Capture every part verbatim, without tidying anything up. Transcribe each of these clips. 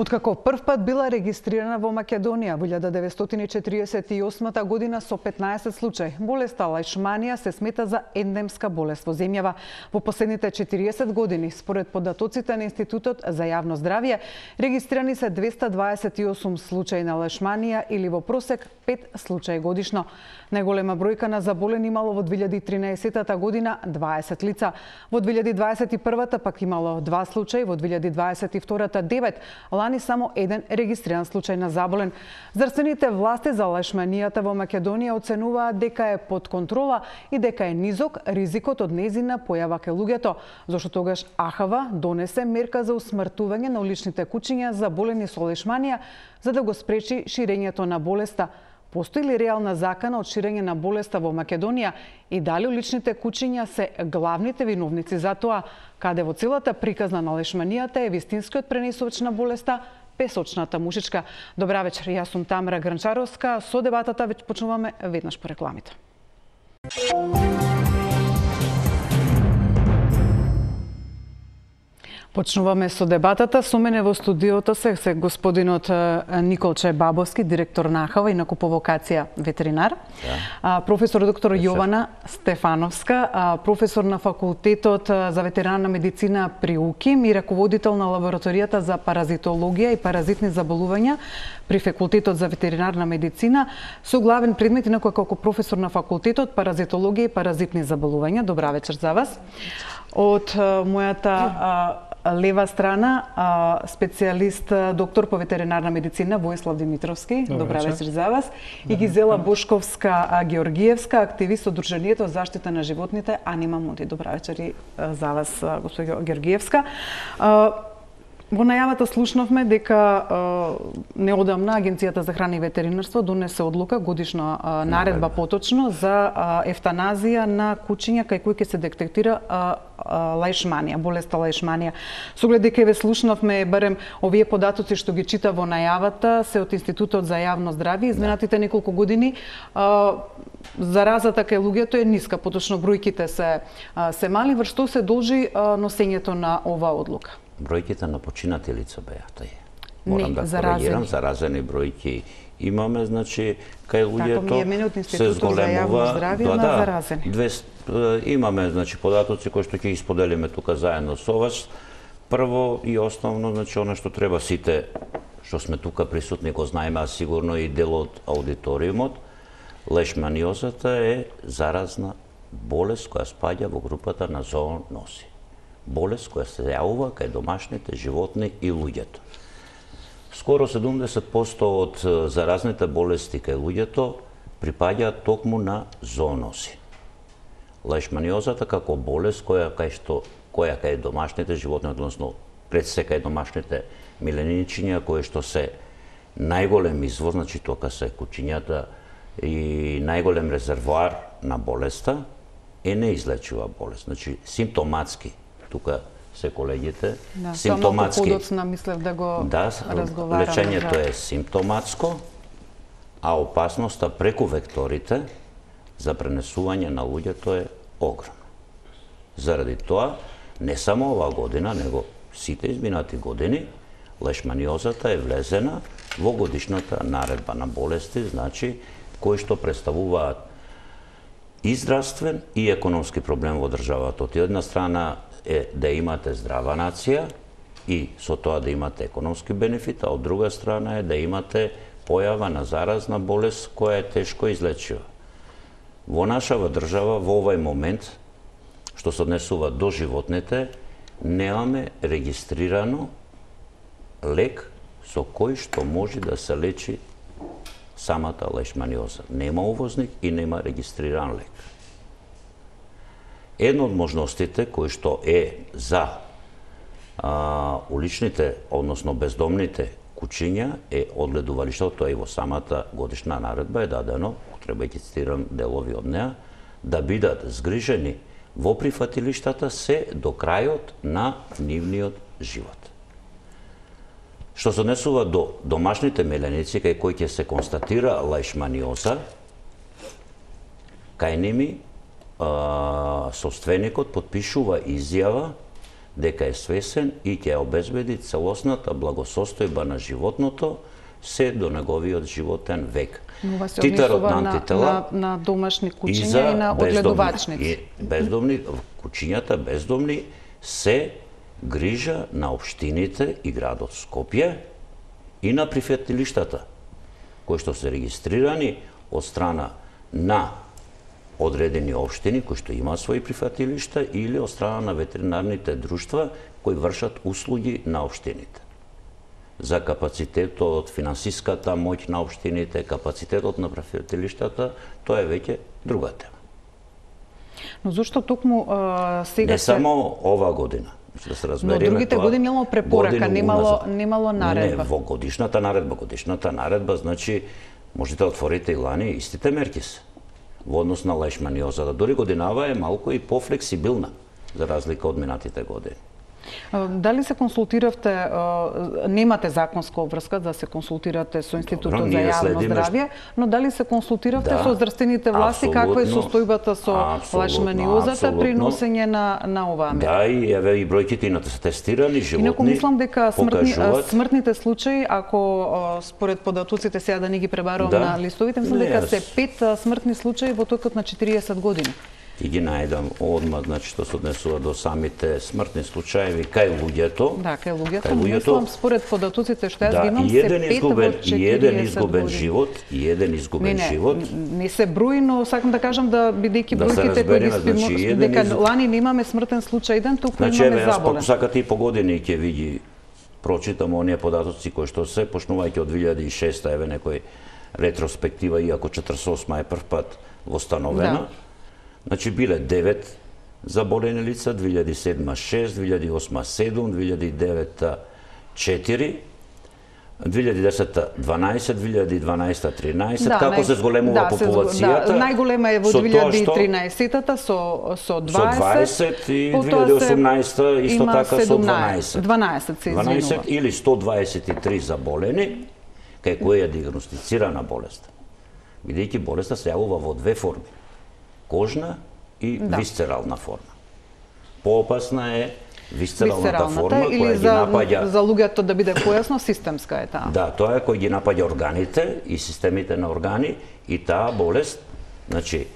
Откако првпат била регистрирана во Македонија во илјада деветстотини четиридесет и осма година со петнаесет случаи, болеста лајшманија се смета за ендемска болест во земјава. Во последните четириесет години, според податоците на Институтот за јавно здравје, регистрирани се двеста дваесет и осум случаи на лајшманија или во просек пет случаи годишно. Најголема бројка на заболени имало во две илјади и тринаесетта година дваесет лица, во две илјади дваесет и првата пак имало два случаи, во две илјади дваесет и втората девет, лани само еден регистриран случај на заболен. Здравствените власти за лајшманијата во Македонија оценуваат дека е под контрола и дека е низок ризикот од нејзина појава кај луѓето, зашто тогаш А Х В донесе мерка за усмртување на уличните кучиња заболени со лајшманија за да го спречи ширењето на болеста. Постои ли реална закана од ширење на болеста во Македонија и дали уличните кучиња се главните виновници за тоа, каде во целата приказна на лајшманијата е вистинскиот пренесувач на болеста, песочната мушичка? Добра вечер, јас сум Тамара Гранчаровска. Со дебатата веќе почнуваме веднаш по рекламите. Почнуваме со дебатата. Со мене во студиото се, се господинот Николче Бабовски, директор на А Х В, инаку по вокација ветеринар. Да. Професор доктор Јована Стефановска, професор на факултетот за ветеринарна медицина при У К И М и раководител на лабораторијата за паразитологија и паразитни заболувања при факултетот за ветеринарна медицина, со главен предмет инаку како професор на факултетот паразитологија и паразитни заболувања. Добра вечер за вас. Од мојата лева страна, специјалист, доктор по ветеринарна медицина Војслав Димитровски. Добра, Добра вечер за вас. И Гизела Бошковска Георгиевска, активист од Друженијето за заштита на животните Анима Мунди. Добра вечер и за вас, госпоѓо Георгиевска. Во најавата слушнавме дека неодамна Агенцијата за храна и ветеринарство донесе одлука, годишна наредба поточно, за ефтаназија на кучиња кај кои ќе се детектира лајшманија, болеста лајшманија. Со оглед дека ве слушнавме, барем овие податоци што ги чита во најавата се од Институтот за јавно здравје. Изминатите неколку години заразата кај луѓето е ниска, поточно бројките се се мали. Врз што се должи носењето на оваа одлука? Бројките на починати лица беа тај. Морам не, да коригирам, заразени бројки имаме, значи кај луѓето се зголемува, да, да, две, имаме значи податоци кои што ќе ги споделиме тука заедно со вас. Прво и основно, значи она што треба сите што сме тука присутни го знаеме, а сигурно и дел од аудиториумот, лајшманиозата е заразна болест која спаѓа во групата на зооноси. Болест која се јавува кај домашните животни и луѓето. Скоро седумдесет проценти од заразните болести кај луѓето припаѓаат токму на зооноси. Лајшманиозата како болест која кај што која кај домашните животни, односно пред се кај домашните миленичиња кои што се најголем извор, значи тока се кучињата и најголем резервоар на болеста, е неизлечива болест. Значи симптоматски тука се колегите, да, симптоматски. Подоцна мислев да го да, разговараме. Лечењето да. е симптоматско, а опасноста преку векторите за пренесување на луѓето е огромна. Заради тоа, не само оваа година, него сите изминати години, лајшманиозата е влезена во годишната наредба на болести, значи кои што представуваат и здравствен и економски проблем во државата. Од една страна е да имате здрава нација и со тоа да имате економски бенефит, а од друга страна е да имате појава на заразна болест која е тешко излечива. Во нашава држава во овај момент, што се однесува до животните, немаме регистрирано лек со кој што може да се лечи самата лајшманиоза. Нема увозник и нема регистриран лек. Една од можностите кои што е за а, уличните, односно бездомните кучиња е одгледувалиштето, тоа и во самата годишна наредба е дадено, треба да цитирам делови од неа, да бидат згрижени во прифатилиштата се до крајот на нивниот живот. Што се однесува до домашните меленици кај кои ќе се констатира лајшманиоза, кај ними собственикот потпишува изјава дека е свесен и ќе обезбеди целосната благосостојба на животното се до неговиот животен век. Титарот на антитела на, на домашни кучиња и, и на огледувачници. И бездомни, кучињата бездомни се грижа на општините и градот Скопје и на прифатилиштата, кои што се регистрирани од страна на одредени општини кои што имаат своји прифатилишта или од страна на ветеринарните друштва кои вршат услуги на општините. За капацитетот, финансиската моќ на општините, капацитетот на прифатилиштата, тоа е веќе друга тема. Но зошто токму а, сега не се... само ова година, да се разбереме. Но другите години немало препорака, немало немало наредба. Не, не, во годишната наредба, годишната наредба значи можете да отворите и лани истите мерки се во однос на лешманиозата. Дори годинава е малку и пофлексибилна за разлика од минатите години. Дали се консултиравте, немате законска обврска да се консултирате со Институтот Добро, за јавно здравје, но дали се консултиравте да, со здравствените власти каква е состојбата со лешманиозата при носење на на оваа мера? Да, и еве и бројките на тестирани животни. Инаку мислам дека смртни, смртните случаи, ако според податоците сега да не ги пребарувам да, на листовите, мислам дека се пет смртни случаи во токот на четириесет години. И ги најдам одма, значи што се однесува до самите смртни случаи кај луѓето. Да, кај луѓето, мислам според податоците што јас да, ги имам се пет во четириесет и еден изгубен живот, и еден изгубен не, живот. Не, не се брои, но сакам да кажам да бидејќи да бројките кои ги спимо, значи, дека из... лани немаме смртен случај еден, туку значи, имаме еве, заболен. Значи, сакате и по години ќе види, прочитам оние податоци кои што се, почнувајќи од две илјади и шеста, еве некој ретроспектива, иако четридесет и осма е прв пат востановена. Да. Значи биле девет заболени лица, две илјади и седма шест, две илјади и осма седум, две илјади и девета четири, две илјади и десета дванаесет, две илјади и дванаесета тринаесет, да, како нај... се зголемува да, популацијата. Да, најголема е во две илјади и тринаесета со со дваесет, и две илјади и осумнаесета исто така со дванаесет. дванаесет се извинува. дванаесет или сто дваесет и три заболени, кај која е диагностицирана болест. Бидејќи болеста се јавува во две форми. Кожна и да. Висцерална форма. Поопасна е висцералната форма која ги напаѓа... за луѓето да биде појасно, системска е таа. Да, тоа е кој ги напаѓа органите и системите на органи и таа болест, значи,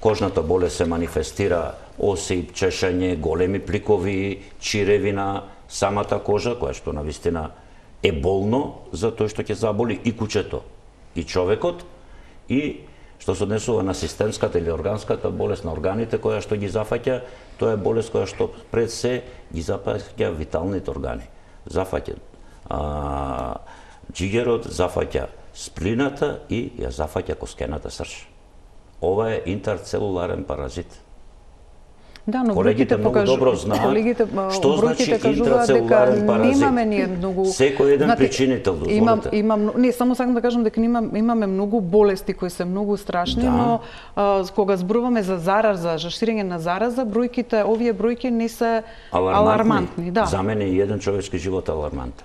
кожната болест се манифестира осип, чешање, големи пликови, чиреви на самата кожа, која што навистина е болно за тој што ќе заболи и кучето, и човекот, и што се однесува на системската или органската болест на органите која што ги зафаќа, тоа е болест која што пред се ги зафаќа виталните органи. Зафаќа а, џигерот, зафаќа сплината и ја зафаќа коскената срж. Ова е интерцелуларен паразит. Да, но колегите многу кажу... добро знаат колегите, што значи интерцелуларен паразит. Немаме ние многу секој еден Знате, причинител, дозволите. Имам, имам, не, само сакам да кажам дека имам, имаме многу болести кои се многу страшни, да. Но а, кога зборуваме за зараза, за ширење на зараза, бројките, овие бројки не се алармантни. алармантни да. За мене и еден човечки живот е алармантен.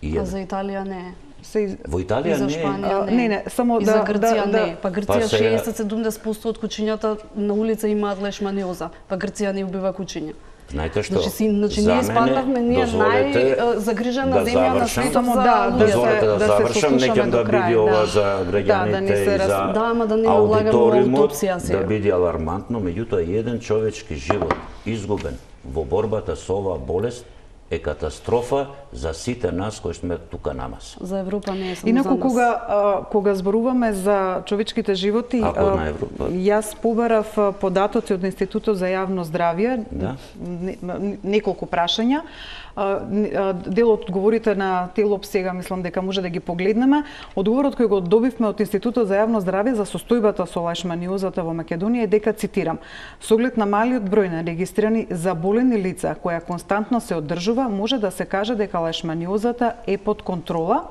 А за Италија не е. Се... Во Италија и за Шпанија не. Не, не, само и да, за Грција да, не. Па Грција па шеесет до седумдесет проценти од кучињата на улица имаат лешманиоза. Па Грција не убива кучиња. Знаете што? Значи, си, значи ние спаднавме, ние најзагрижена да земја на светот за да, дозволете да, да завршам, некем да биде ова за граѓаните да, да и за да, ама да не аудиториумот, да биде алармантно, меѓутоа еден човечки живот изгубен во борбата со оваа болест е катастрофа за сите нас кои сме тука намас. За Европа не е само Инаку, за нас. кога, а, кога зборуваме за човечките животи, а, јас побарав податоци од Институтот за јавно здравје, да. неколку прашања. Дел од одговорите на Телоп сега мислам дека може да ги погледнеме. Одговорот кој го добивме од Институтот за јавно здравје за состојбата со лешманиозата во Македонија е дека, цитирам, со оглед на малиот број на регистрирани заболени лица која константно се одржува, може да се каже дека лешманиозата е под контрола,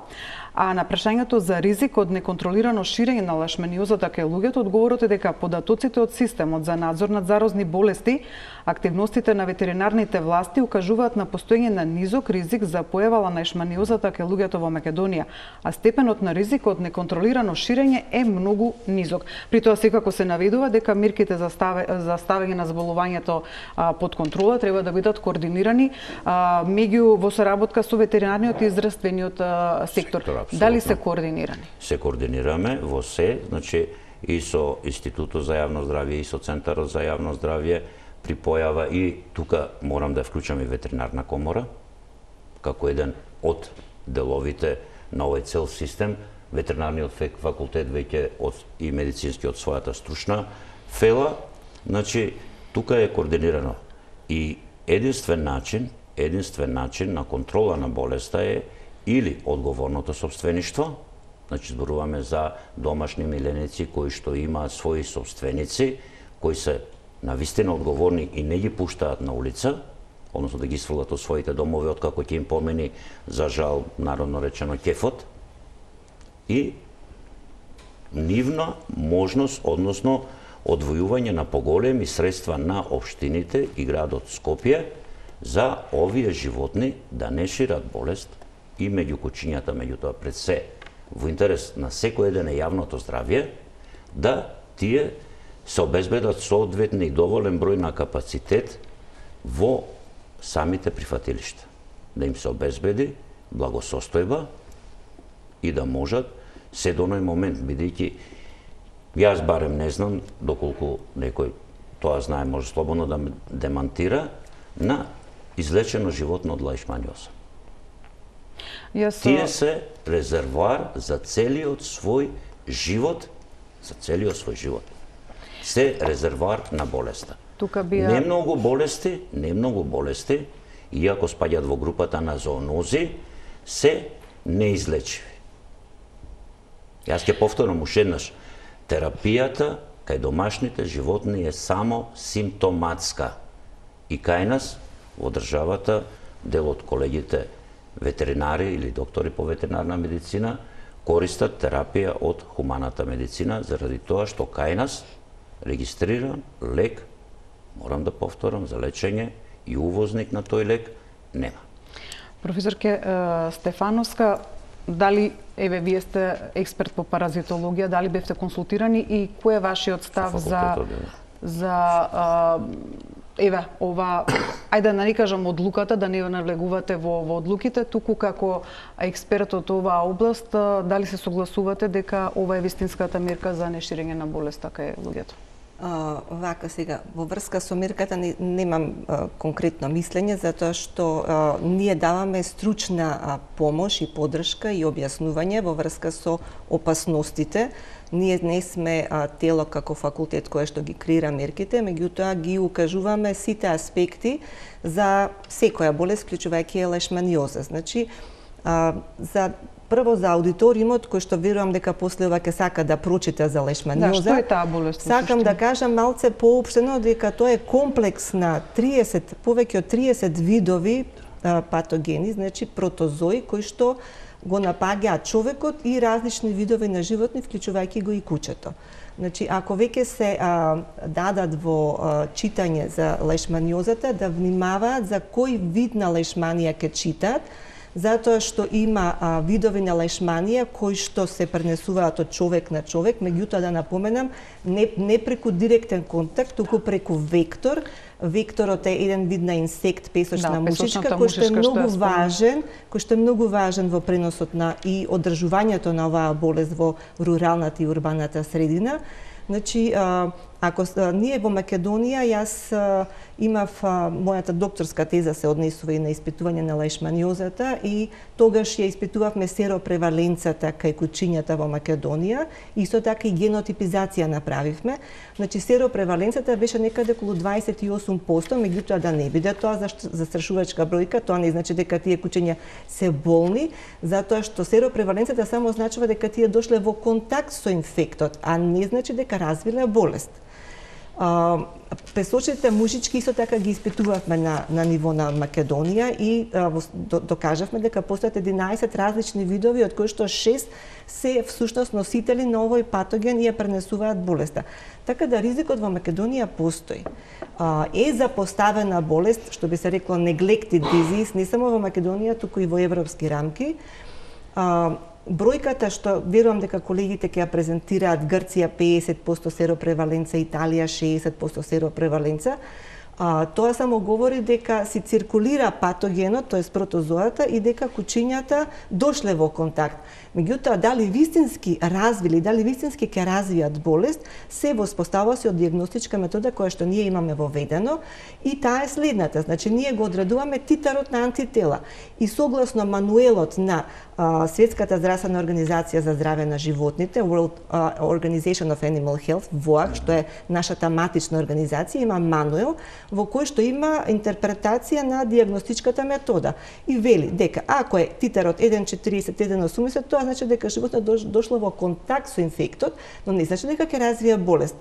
А на прашањето за ризик од неконтролирано ширење на лешманиозата кај луѓето, одговорот е дека податоците од системот за надзор над зарозни болести, активностите на ветеринарните власти укажуваат на постоење на низок ризик за појава на лешманиозата кај луѓето во Македонија, а степенот на ризик од неконтролирано ширење е многу низок. При тоа секако се наведува дека мерките за ставење на заболувањето а, под контрола треба да бидат координирани а, меѓу во соработка со ветеринарниот и здравствениот а, сектор. сектор Дали се координирани? Се координираме во се, значи и со Институтот за јавно здравје и со Центарот за јавно здравје при појава, и тука морам да вклучам и ветеринарна комора како еден од деловите на овој цел систем. Ветеринарниот факултет веќе од и медицински од својата стручна фела, значи тука е координирано. И единствен начин, единствен начин на контрола на болеста е или одговорното сопствеништво, значи зборуваме за домашни миленици кои што имаат своји сопственици, кои се навистина одговорни и не ги пуштаат на улица, односно да ги свалат од своите домови откако ќе им помени, за жал, народно речено, кефот, и нивна можност, односно одвојување на поголеми средства на општините и градот Скопје за овие животни да не шират болест и меѓу кучињата, меѓутоа пред се во интерес на секој еден е јавното здравје, да тие се обезбедат соодветни и доволен број на капацитет во самите прифатилишта, да им се обезбеди благосостојба и да можат се до оној момент, бидејќи јас барем не знам, доколку некој тоа знае, може слободно да ме демантира, на излечено животно од лешманиоза. Јас... Тие се резервоар за целиот свој живот, за целиот свој живот. Се резервоар на болеста. Тука бија... Не многу болести, не многу болести, иако спаѓаат во групата на зоонози, се неизлечиви. Јас ќе повторам уште еднаш. Терапијата кај домашните животни е само симптоматска. И кај нас, во државата, дел од колегите ветеринари или доктори по ветеринарна медицина користат терапија од хуманата медицина, заради тоа што кај нас регистриран лек, морам да повторам, за лечење и увозник на тој лек нема. Професорке Стефановска, дали, еве, вие сте експерт по паразитологија, дали бевте консултирани и кој е вашиот став за, за а, еве, ова, ајде да не кажам одлуката, да не навлегувате во, во одлуките, туку како експерт од оваа област, дали се согласувате дека ова е вистинската мерка за неширење на болеста кај луѓето? Uh, вака сега, во врска со мерката не, немам uh, конкретно мислење, затоа што uh, ние даваме стручна uh, помош и поддршка и објаснување во врска со опасностите. Ние не сме uh, тело како факултет кое што ги креира мерките, меѓутоа ги укажуваме сите аспекти за секоја болест, вклучувајќи лешманиоза. Значи, uh, за прво за аудиториумот, кој што верувам дека после ова ќе сака да прочита за лешманиоза. Да, што е таа болест? Сакам да кажам малце поопштено дека тоа е комплекс на триесет, повеќе од триесет видови а, патогени, значи протозои кои што го напаѓаат човекот и различни видови на животни, вклучувајќи го и кучето. Значи, ако веќе се а, дадат во а, читање за лешманиозата, да внимаваат за кој вид на лешманија ќе читаат, затоа што има а, видови на лешманија кои што се пренесуваат од човек на човек, меѓутоа да напоменам, не, не преку директен контакт, туку преку вектор. Векторот е еден вид на инсект, песочна да, мушичка, кој што е многу што важен, кој што е многу важен во преносот на и одржувањето на оваа болест во руралната и урбаната средина. Значи, а, ако а, ние во Македонија, јас а, имав а, мојата докторска теза се однесува и на испитување на лешманиозата и тогаш ја испитувавме серопреваленцата кај кучињата во Македонија, исто така и генотипизација направивме. Значи, серопреваленцата беше некаде околу дваесет и осум проценти, меѓутоа да не биде тоа застрашувачка бројка, тоа не значи дека тие кучиња се болни, затоа што серопреваленцата само означува дека тие дошле во контакт со инфектот, а не значи дека развиле болест. Песочните мушички исто така ги испитувавме на, на ниво на Македонија и а, до, докажавме дека постојат единаесет различни видови, од кои што шест се всушност носители на овој патоген и ја пренесуваат болеста. Така да ризикот во Македонија постои. А, е запоставена болест, што би се рекло neglected disease, не само во Македонија, туку и во европски рамки. А, Бројката што верувам дека колегите ќе ја презентираат, Грција педесет проценти серопреваленца, Италија шеесет проценти серопреваленца, а, тоа само говори дека си циркулира патогенот, тоест протозоата, и дека кучињата дошле во контакт. Меѓутоа, дали вистински развили, дали вистински ќе развијат болест, се воспоставува се од диагностичка метода која што ние имаме воведено, и таа е следната. Значи, ние го одредуваме титарот на антитела. И согласно мануелот на а, Светската здравствена организација за здраве на животните, World uh, Organization of Animal Health, во а х, што е нашата матична организација, има мануел во кој што има интерпретација на диагностичката метода. И вели дека ако е титарот еден четириесет еден осумдесет, тоа значи дека животното дошло во контакт со инфектот, но не значи дека ќе развие болест.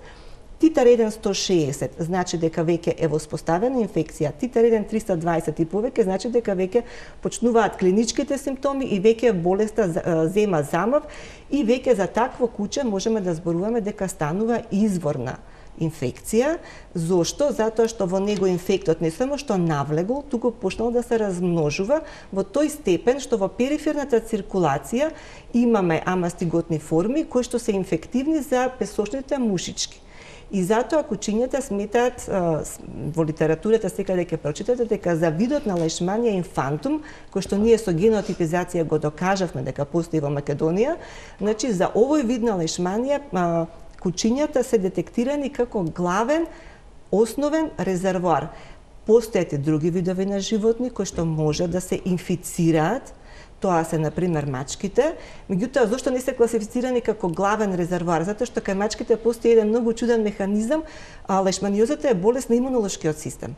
Титар еден сто шеесет значи дека веќе е воспоставена инфекција. Титар еден триста дваесет и повеќе значи дека веќе почнуваат клиничките симптоми и веќе болеста зема замав, и веќе за такво куче можеме да зборуваме дека станува изворна инфекција. Зошто? Затоа што во него инфектот не само што навлегол, туку почнал да се размножува во тој степен што во периферната циркулација имаме амастиготни форми кои што се инфективни за песочните мушички. И затоа кучињата сметаат, во литературата секаде ќе прочитате, дека за видот на лешманија инфантум, кој што ние со генотипизација го докажавме дека постои во Македонија, значи за овој вид на лешманија кучињата се детектирани како главен, основен резервоар. Постојат и други видови на животни кои што може да се инфицираат. Тоа се, например, мачките. Меѓутоа, зошто не се класифицирани како главен резервоар? Затоа што кај мачките постои еден многу чуден механизам, а лешманиозата е болест на имунолошкиот систем.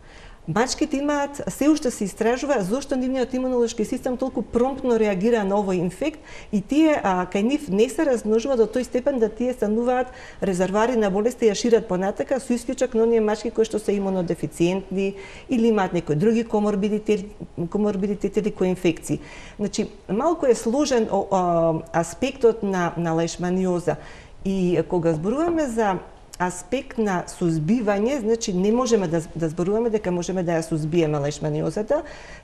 Мачките имаат, се уште се истражува зошто нивниот имунолошки систем толку промптно реагира на овој инфект, и тие а, кај нив не се размножува до тој степен да тие стануваат резервоари на болести и ја шират понатака, со исклучок на оние мачки кои што се имунодефициентни или имаат некои други коморбидитети, коморбидитети или коинфекции. Значи, малку е сложен о, о, аспектот на, на лешманиоза, и кога зборуваме за аспект на сузбивање, значи не можеме да, да зборуваме дека можеме да ја сузбиеме лешманиозата.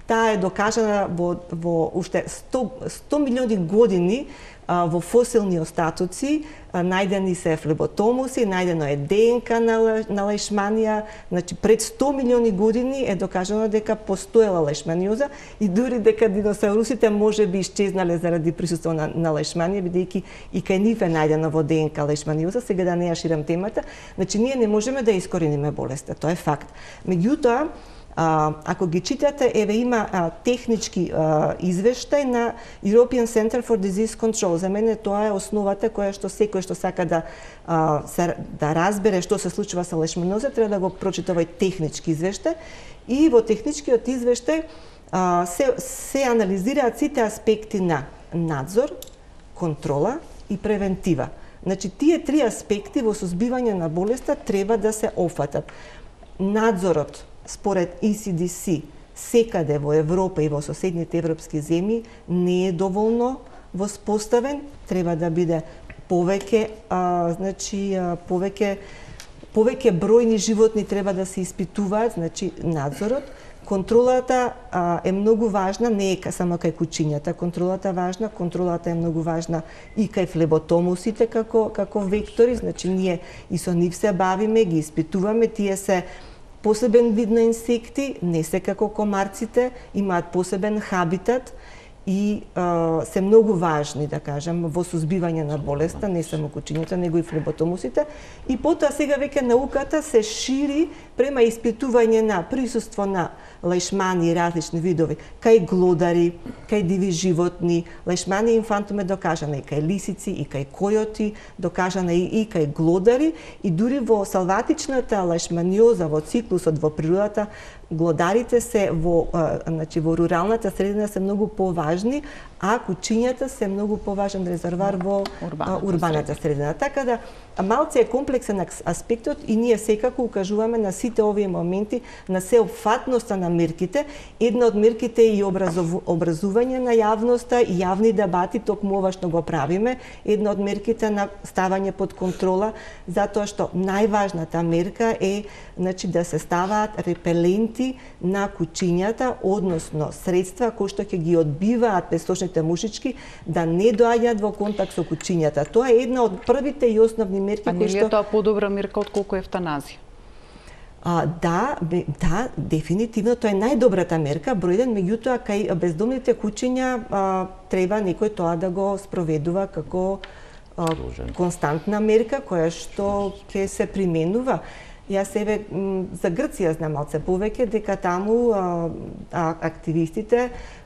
Таа е докажана во, во уште сто милиони години а, во фосилни остатоци. А, најдени се флеботомуси, најдено е ДНК на, на лешманија. Значи пред сто милиони години е докажано дека постоела лешманиоза, и дури дека диносаурусите може би исчезнале заради присуство на, на лешманија, бидејќи и кај нив е најдено во ДНК лешманиоза. Сега да не ја ширам темата. Значи ние не можеме да искорениме болеста, тоа е факт. Меѓутоа, А, ако ги читате, еве има а, технички а, извештај на European Center for Disease Control. За мене тоа е основата која што секој што сака да а, се, да разбере што се случува со лешманиоза, треба да го прочита овој технички извештај. И во техничкиот извештај а, се, се анализираат сите аспекти на надзор, контрола и превентива. Значи, тие три аспекти во сузбивање на болеста треба да се офатат. Надзорот, според И Си Ди Си, секаде во Европа и во соседните европски земји не е доволно воспоставен, треба да биде повеќе, а, значи а, повеќе повеќе бројни животни треба да се испитуваат, значи надзорот. Контролата а, е многу важна, не е само кај кучињата, контролата е важна, контролата е многу важна и кај флеботомусите како како вектори, значи ние и со нив се бавиме, ги испитуваме, тие се посебен вид на инсекти, не се како комарците, имаат посебен хабитат и а, се многу важни, да кажам, во сузбивање на болеста, не само кучињата, него и флеботомусите. И потоа сега веќе науката се шири према испитување на присуство на лешмани и различни видови, кај глодари, кај диви животни. Лешманија инфантум е докажана и кај лисици, и кај којоти, докажана и, и кај глодари, и дури во салватичната лешманиоза, во циклусот во природата, глодарите се во, а, значи, во руралната средина се многу поважни, а кучињата се многу поважен резервоар во урбаната, урбаната средина. Така да малце е комплексен аспектот и ние секако укажуваме на сите овие моменти на сеопфатноста на мерките. Една од мерките е и образов, образување на јавноста и јавни дебати, токму ова што го правиме. Една од мерките на ставање под контрола, затоа што најважната мерка е, значи, да се ставаат репеленти на кучињата, односно средства кои што ќе ги одбиваат песочните мушички да не доаѓаат во контакт со кучињата. Тоа е една од првите и основни мерки кои што... А не е тоа подобра мерка отколку евтаназија? А, да, бе, да, дефинитивно тоа е најдобрата мерка, број еден, меѓутоа кај бездомните кучиња а, треба некој тоа да го спроведува како а, константна мерка која што ќе се применува. Јас себе за Грција знам малце повеќе дека таму а, а, активистите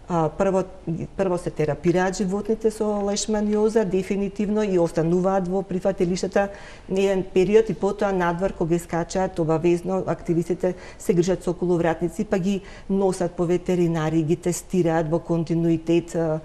а, прво прво се терапираат животните со лешманиоза дефинитивно и остануваат во прифатилиштата еден период и потоа надвор кога ги скачаат обавезно активистите се грижат со околувратници па ги носат по ветеринари, ги тестираат во континуитет а,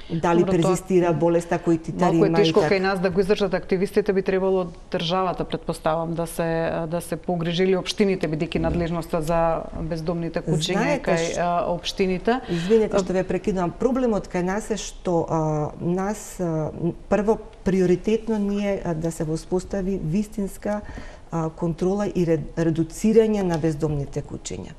дали Добро, перзистира болеста кој титари има. Малку е тешко кај нас да го издржат активистите, би требало државата, претпоставам, да се да се погрижили општините, бидејќи надлежноста за бездомните кучиња кај а, општините. Извинете што ве прекидувам. Проблемот кај нас е што а, нас а, прво приоритетно ние а, да се воспостави вистинска а, контрола и редуцирање на бездомните кучиња.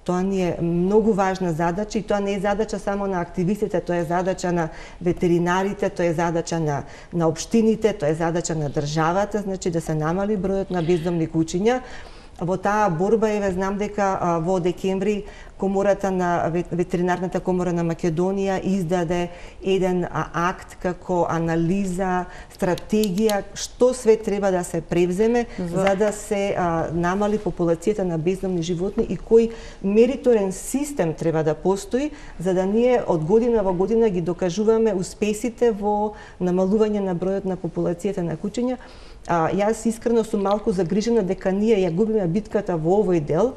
Тоа ни е многу важна задача и тоа не е задача само на активистите, тоа е задача на ветеринарите, тоа е задача на на општините, тоа е задача на државата, значи да се намали бројот на бездомни кучиња. Во таа борба еве знам дека а, во декември комората на ветеринарната комора на Македонија издаде еден а, акт како анализа, стратегија што све треба да се превземе за, за да се а, намали популацијата на бездомни животни и кој мериторен систем треба да постои за да ние од година во година ги докажуваме успесите во намалување на бројот на популацијата на кучиња. А, јас искрено сум малку загрижена дека ние ја губиме битката во овој дел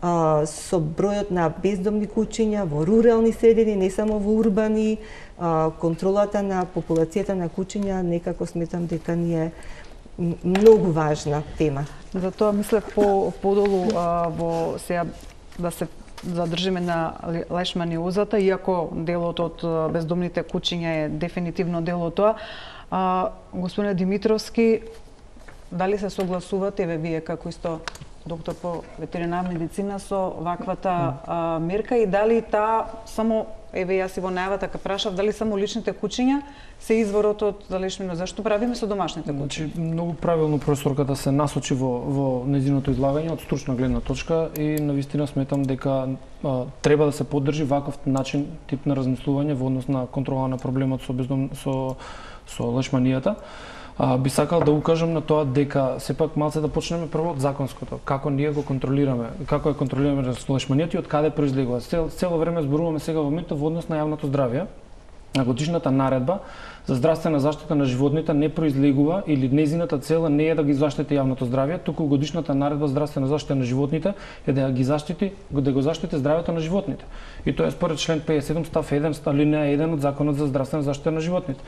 а, со бројот на бездомни кучиња во рурални средини, не само во урбани, а, контролата на популацијата на кучиња, некако сметам дека ни е многу важна тема. Затоа мислев по подолу а, во сега да се задржиме на лешманиозата, иако делот од бездомните кучиња е дефинитивно дел од тоа. А, господине Димитровски, дали се согласувате, еве вие како исто доктор по ветеринарна медицина со ваквата а, мерка и дали таа само, еве јас и во најавата ка прашав, дали само личните кучиња се изворот од лешманиоза? Зашто правиме со домашните кучиња? Значи, многу правилно професорката се насочи во, во нејзиното излагање од стручна гледна точка и навистина сметам дека а, треба да се поддржи ваков начин, тип на размислување во однос на контрола на проблемот со бездом, со со лешманијата. А, би сакал да укажам на тоа дека сепак малце да почнеме прво од законското, како ние го контролираме, како ја контролираме лешманијата и од каде произлегува. Цел, цело време зборуваме сега во моментот во однос на јавното здравје. На годишната наредба за здравствена заштита на животните не произлегува или нејзината цел не е да ги заштити јавното здравје, туку годишната наредба за здравствена заштита на животните е да ги заштити, да го заштити здравјето на животните. И тоа е според член петдесет и седум став еден, алинеја еден од Законот за здравствена заштита на животните.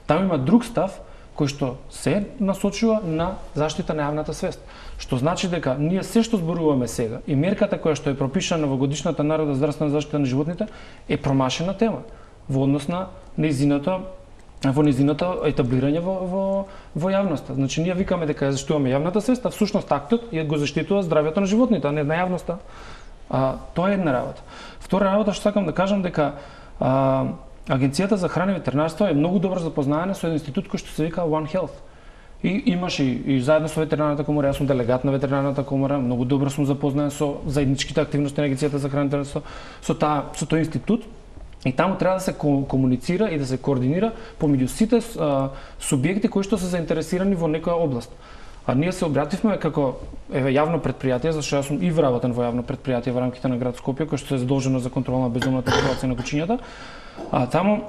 Таму има друг став кој што се насочува на заштита на јавната свест. Што значи дека ние се што зборуваме сега и мерката која што е пропишана во годишната наредба за здравствена заштита на животните е промашена тема во однос на нејзината во нејзиното етаблирање во, во, во јавноста. Значи ние викаме дека ја заштитуваме јавната свест, а всушност актот ја го заштитува здравјето на животните, а не на јавноста. А, тоа е една работа. Втора работа што сакам да кажам дека а, Агенцијата за храна и ветеринарство е многу добро запознаена со еден институт кој што се вика One Health. И имаш и, и заедно со ветеринарната комора, јас сум делегат на ветеринарната комора, многу добро сум запознаен со заедничките активности на Агенцијата за храна и ветеринарство, со таа со тој институт. И таму треба да се комуницира и да се координира помеѓу сите а, субјекти кои што се заинтересирани во некоја област. А ние се обративме како еве јавно предпријатие, зашто јас сум и вработен во јавно предпријатие во рамките на град Скопје, кој што е задолжено за контрола на бездомната популација на кучињата. А таму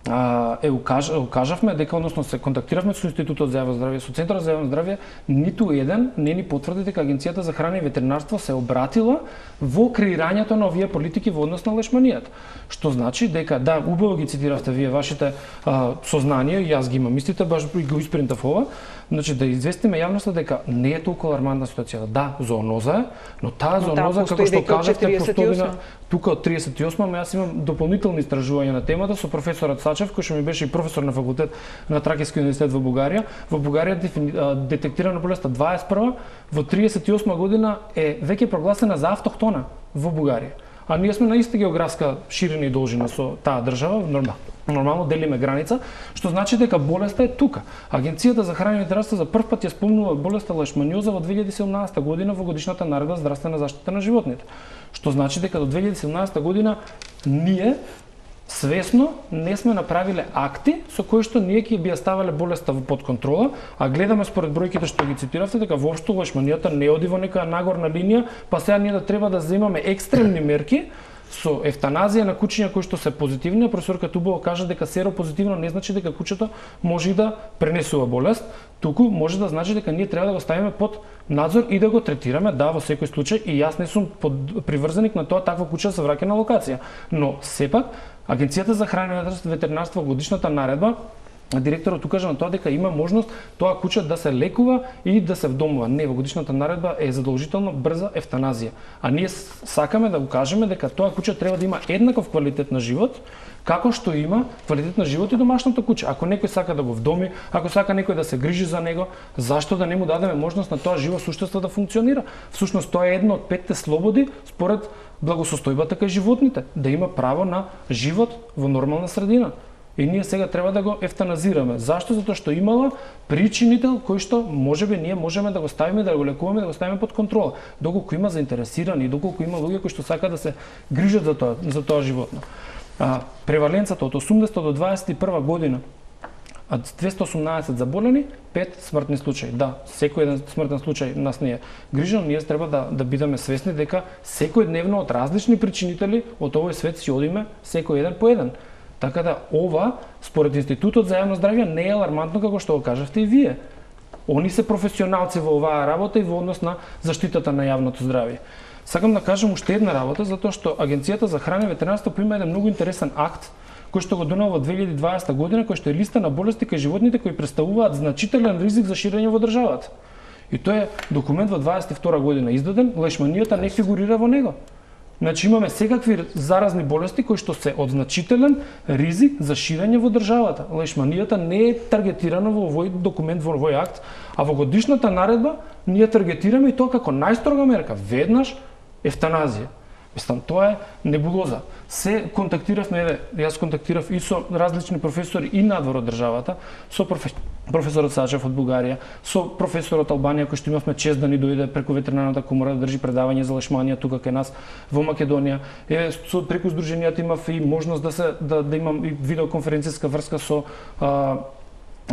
а, е укаж, укажавме дека, односно се контактиравме со Институтот за јавно здравје, со Центарот за јавно здравје, ниту еден не ни потврди дека Агенцијата за храна и ветеринарство се обратила во креирањето на овие политики во однос на лешманијата. Што значи дека, да, убаво ги цитиравте вие вашите а, сознанија, и јас ги имам истите, баш го испринтав ова, значи да известиме јавноста дека не е толку алармантна ситуацијата. Да, зооноза е, но таа но зооноза, како што кажавте, постои на тука од триесет и осма, јас имам дополнителни истражувања на темата со професорот Сачев, кој што ми беше и професор на факултет на Тракијски универзитет во Бугарија. Во Бугарија детектирана болеста дваесет и прва, во триесет и осма година е веќе прогласена за автохтона во Бугарија. А ние сме на иста географска ширина и должина со таа држава, нормално. Нормално делиме граница, што значи дека болеста е тука. Агенцијата за храна и ветеринарство за прв пат ја спомнува болеста лешманиоза во две илјади и седумнаесета година во годишната наредба за здравствена заштита на животните. Што значи дека до две илјади и седумнаесета година ние свесно не сме направиле акти со кои што ние ќе би ја ставале болеста под контрола, а гледаме според бројките што ги цитиравте дека воопшто лешманијата не оди во нека нагорна линија, па сега ние да треба да земаме екстремни мерки со ефтаназија на кучиња кои што се позитивни. Професорка Тубова кажа дека серопозитивно не значи дека кучето може и да пренесува болест, туку може да значи дека ние треба да го ставиме под надзор и да го третираме, да, во секој случај, и јас не сум приврзаник на тоа такво куче да се враќа на локација. Но сепак Агенцијата за храна и ветеринарство годишната наредба, директорот укажа на тоа дека има можност тоа куче да се лекува и да се вдомува. Не, во годишната наредба е задолжително брза ефтаназија. А ние сакаме да го кажеме дека тоа куче треба да има еднаков квалитет на живот, како што има квалитет на живот и домашното куче. Ако некој сака да го вдоми, ако сака некој да се грижи за него, зашто да не му дадеме можност на тоа живо суштество да функционира? Всушност тоа е едно од петте слободи според благосостојбата кај животните, да има право на живот во нормална средина. И ние сега треба да го ефтаназираме. Зашто? Затоа што имала причинител кој што можеби ние можеме да го ставиме, да го лекуваме, да го ставиме под контрола. Доколку има заинтересирани, доколку има луѓе кои што сакаат да се грижат за тоа, за тоа животно. А, преваленцата од осумдесета до дваесет и прва година, а двесте и осумнаесет заболени, пет смртни случаи. Да, секој еден смртен случај нас не е грижен, ние треба да да бидеме свесни дека секојдневно од различни причинители од овој свет си одиме секој еден по еден. Така да ова, според Институтот за јавно здравје, не е алармантно како што го кажавте и вие. Они се професионалци во оваа работа и во однос на заштитата на јавното здравје. Сакам да кажам уште една работа, затоа што Агенцијата за храна и ветеринарство има еден многу интересен акт кој што го донел во две илјади и дваесета година, кој што е листа на болести кај животните кои представуваат значителен ризик за ширење во државата. И тоа е документ во дваесет и втора година издаден, лешманијата не фигурира во него. Значи имаме секакви заразни болести кои што се од значителен ризик за ширење во државата. Лешманијата не е таргетирана во овој документ, во овој акт, а во годишната наредба ние таргетираме и тоа како најстрога мерка, веднаш ефтаназија. Мислам, тоа е небулоза. Се контактиравме, јас контактирав и со различни професори и надвор од државата, со професор, професорот Сачев од Бугарија, со професорот Албанија кој што имавме чест да ни дојде преку ветеринарната комора да држи предавање за лешманија тука кај нас во Македонија. Е, со преку здруженијата имав и можност да се да, да имам и видеоконференцијска врска со а,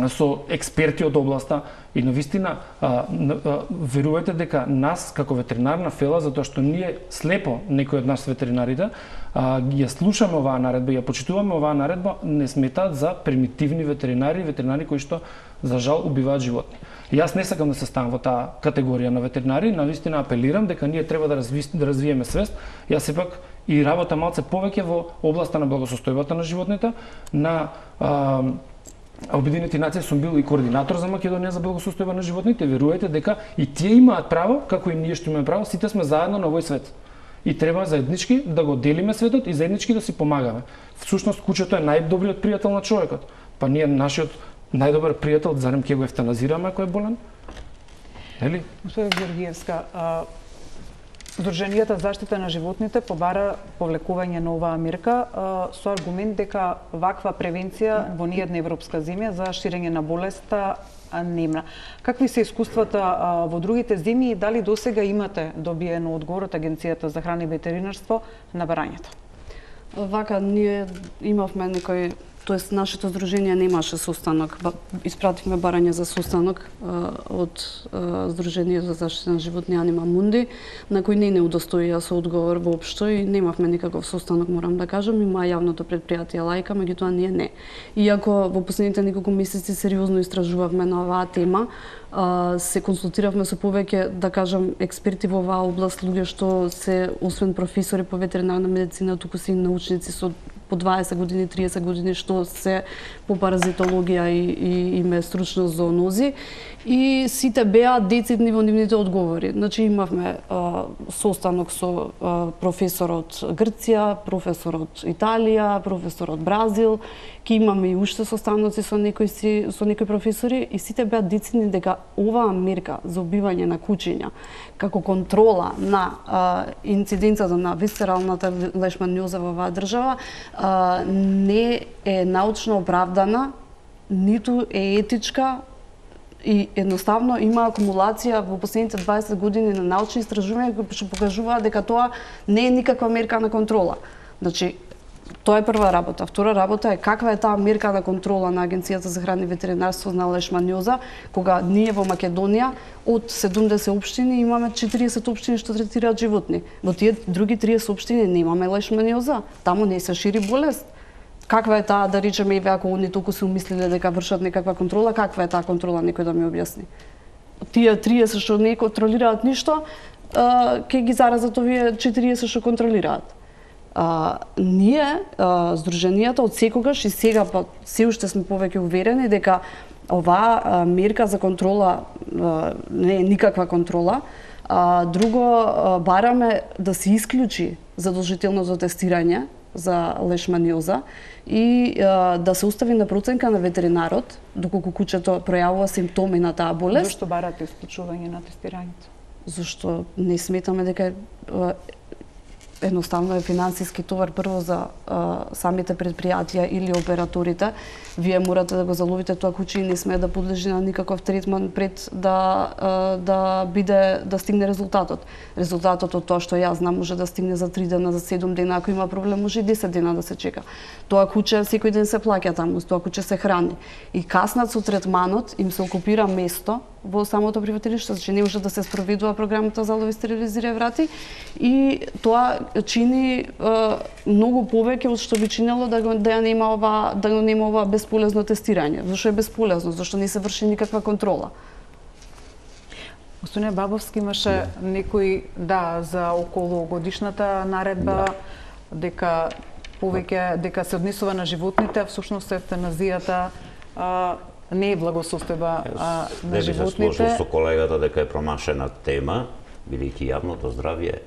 со експерти од областа и навистина а, а, верувате дека нас како ветеринарна фела, затоа што ние слепо некои од нас ветеринарите а, ја слушаме оваа наредба, ја почитуваме оваа наредба, не сметаат за примитивни ветеринари, ветеринари кои што за жал убиваат животни. И јас не сакам да се ставам во таа категорија на ветеринари, навистина апелирам дека ние треба да, разви, да развиеме свест. Јас сепак и работа малце повеќе во областа на благосостојбата на животните, на а, Обединените нации сум бил и координатор за Македонија за благосостојба на животните. Верувате дека и тие имаат право, како и ние што имаме право, сите сме заедно на овој свет. И треба заеднички да го делиме светот и заеднички да си помагаме. Всушност кучето е најдобриот пријател на човекот. Па ние нашиот најдобар пријател зарем ќе го ефтаназираме ако е болен? Нели? Господи Георгиевска, а, Сдруженијата за заштита на животните побара повлекување на оваа мерка а, со аргумент дека ваква превенција во ниедна европска земја за ширење на болеста немна. Какви се искуствата а, во другите земји и дали досега имате добиено одговор од Агенцијата за храна и ветеринарство на барањето? Вака, ние имавме некој тоест нашето здружение немаше состанок. Испративме барање за состанок од Здружение за заштита на животни Анима Мунди, на кој не не удостоија со одговор воопшто и немавме никаков состанок, морам да кажам, има јавното предпријатие Лајка, меѓутоа ние не. Иако во последните неколку месеци сериозно истражувавме на оваа тема, се консултиравме со повеќе, да кажам, експерти во оваа област, луѓе што се освен професори по ветеринарна медицина, туку се и научници со по дваесет години, триесет години, што се по паразитологија и, и име стручно зоонози. И сите беа децидни во нивните одговори. Значи имавме а, состанок со а, професор од Грција, професор од Италија, професор од Бразил, ки имаме и уште состаноци со некои си, со некои професори и сите беа децидни дека оваа мерка за убивање на кучиња како контрола на а, инциденцата на висцералната лешманиоза во оваа држава а, не е научно оправдана, ниту е етичка и едноставно има акумулација во последните дваесет години на научни истражувања кои што покажуваат дека тоа не е никаква мерка на контрола. Значи, тоа е прва работа. Втора работа е каква е таа мерка на контрола на Агенцијата за храна и ветеринарство на лешманиоза, кога ние во Македонија од седумдесет општини имаме четириесет општини што третираат животни. Во тие други триесет општини немаме лешманиоза. Таму не се шири болест. Каква е таа, да речеме, еве ако они толку се умислиле дека вршат некаква контрола, каква е таа контрола, некој да ми објасни. Тие триесет што не контролираат ништо, ќе ги заразат овие четириесет што контролираат. А, ние, а, Здруженијата, од секогаш и сега па се уште сме повеќе уверени дека оваа а, мерка за контрола а, не е никаква контрола. А, друго, а, бараме да се исклучи задолжителното тестирање за лешманиоза и а, да се остави на проценка на ветеринарот доколку кучето пројавува симптоми на таа болест. Зошто барате исклучување на тестирањето? Зашто не сметаме дека а, едноставно е финансиски товар прво за а, самите предпријатија или операторите. Вие морате да го заловите тоа куче и не смее да подлежи на никаков третман пред да а, да биде да стигне резултатот. Резултатот од тоа што јас знам може да стигне за три дена, за седум дена, ако има проблем може и десет дена да се чека. Тоа куче секој ден се плаќа таму, тоа куче се храни. И каснат со третманот им се окупира место во самото приватилиште, значи не може да се спроведува програмата за лови, стерилизира врати и тоа чини е, многу повеќе од што би чинело да го да нема ова да го нема ова бесполезно тестирање. Зошто е бесполезно? Зашто не се врши никаква контрола. Господине Бабовски, имаше да. некои да за околу годишната наредба да. дека повеќе дека се однесува на животните, а всушност евтаназијата а, не е благосостојба на животните. Не би се сложил со колегата дека е промашена тема, бидејќи јавното здравје.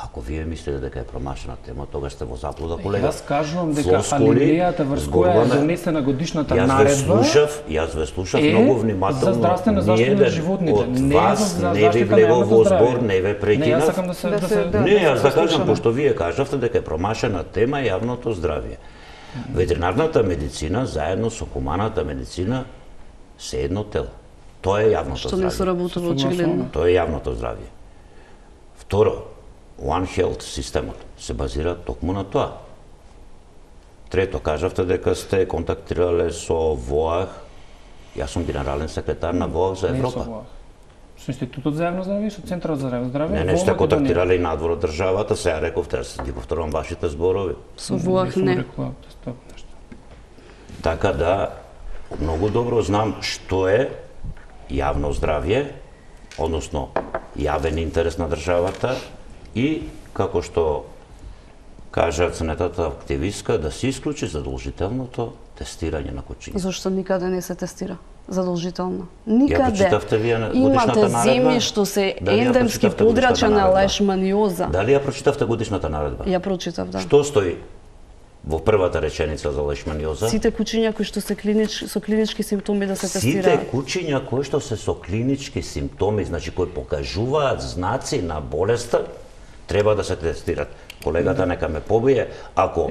Ако вие мислите дека е промашена тема, тогаш сте во заблуда, колега. Јас кажувам дека алинејата врз која е донесена годишната наредба. Јас ве слушав, јас ве слушав е многу внимателно. За здравствена заштита на животните, не вас за не ви влегол во збор, не ве прекинав. Не, јас сакам да се да се Не, јас да кажам пошто вие кажавте дека е промашена тема јавното здравје. Ветеринарната медицина заедно со хуманата медицина се едно тело. Тоа е јавното здравје. Што не соработува очигледно. Тоа е јавното здравје. Второ, One Health системот се базира токму на тоа. Трето, кажавте дека сте контактирале со ВОАХ. Јас сум генерален секретар на ВОАХ за Европа. Не со ВОАХ. Со Институтот за јавно здравје и со Центарот за јавно здравје. Не, не сте контактирале и надвор од државата, сега рековте, јас ги повторувам вашите зборови. Со ВОАХ не. Така да, многу добро знам што е јавно здравје, односно јавен интерес на државата и, како што кажа ценетата активистка, да се исклучи задолжителното тестирање на кучиња. Зошто никаде не се тестира задолжително? Никаде. Ја прочитавте вие на годишната наредба? наредба? Имате земји што се ендемски подрачја на лешманиоза. Дали ја прочитавте годишната наредба? Ја прочитав, да. Што стои во првата реченица за лешманиоза? Сите кучиња кои што се клинич, со клинички симптоми да се тестираат. Сите кучиња кои што се со клинички симптоми, значи кои покажуваат знаци на болеста, треба да се тестираат. Колегата нека ме побие, ако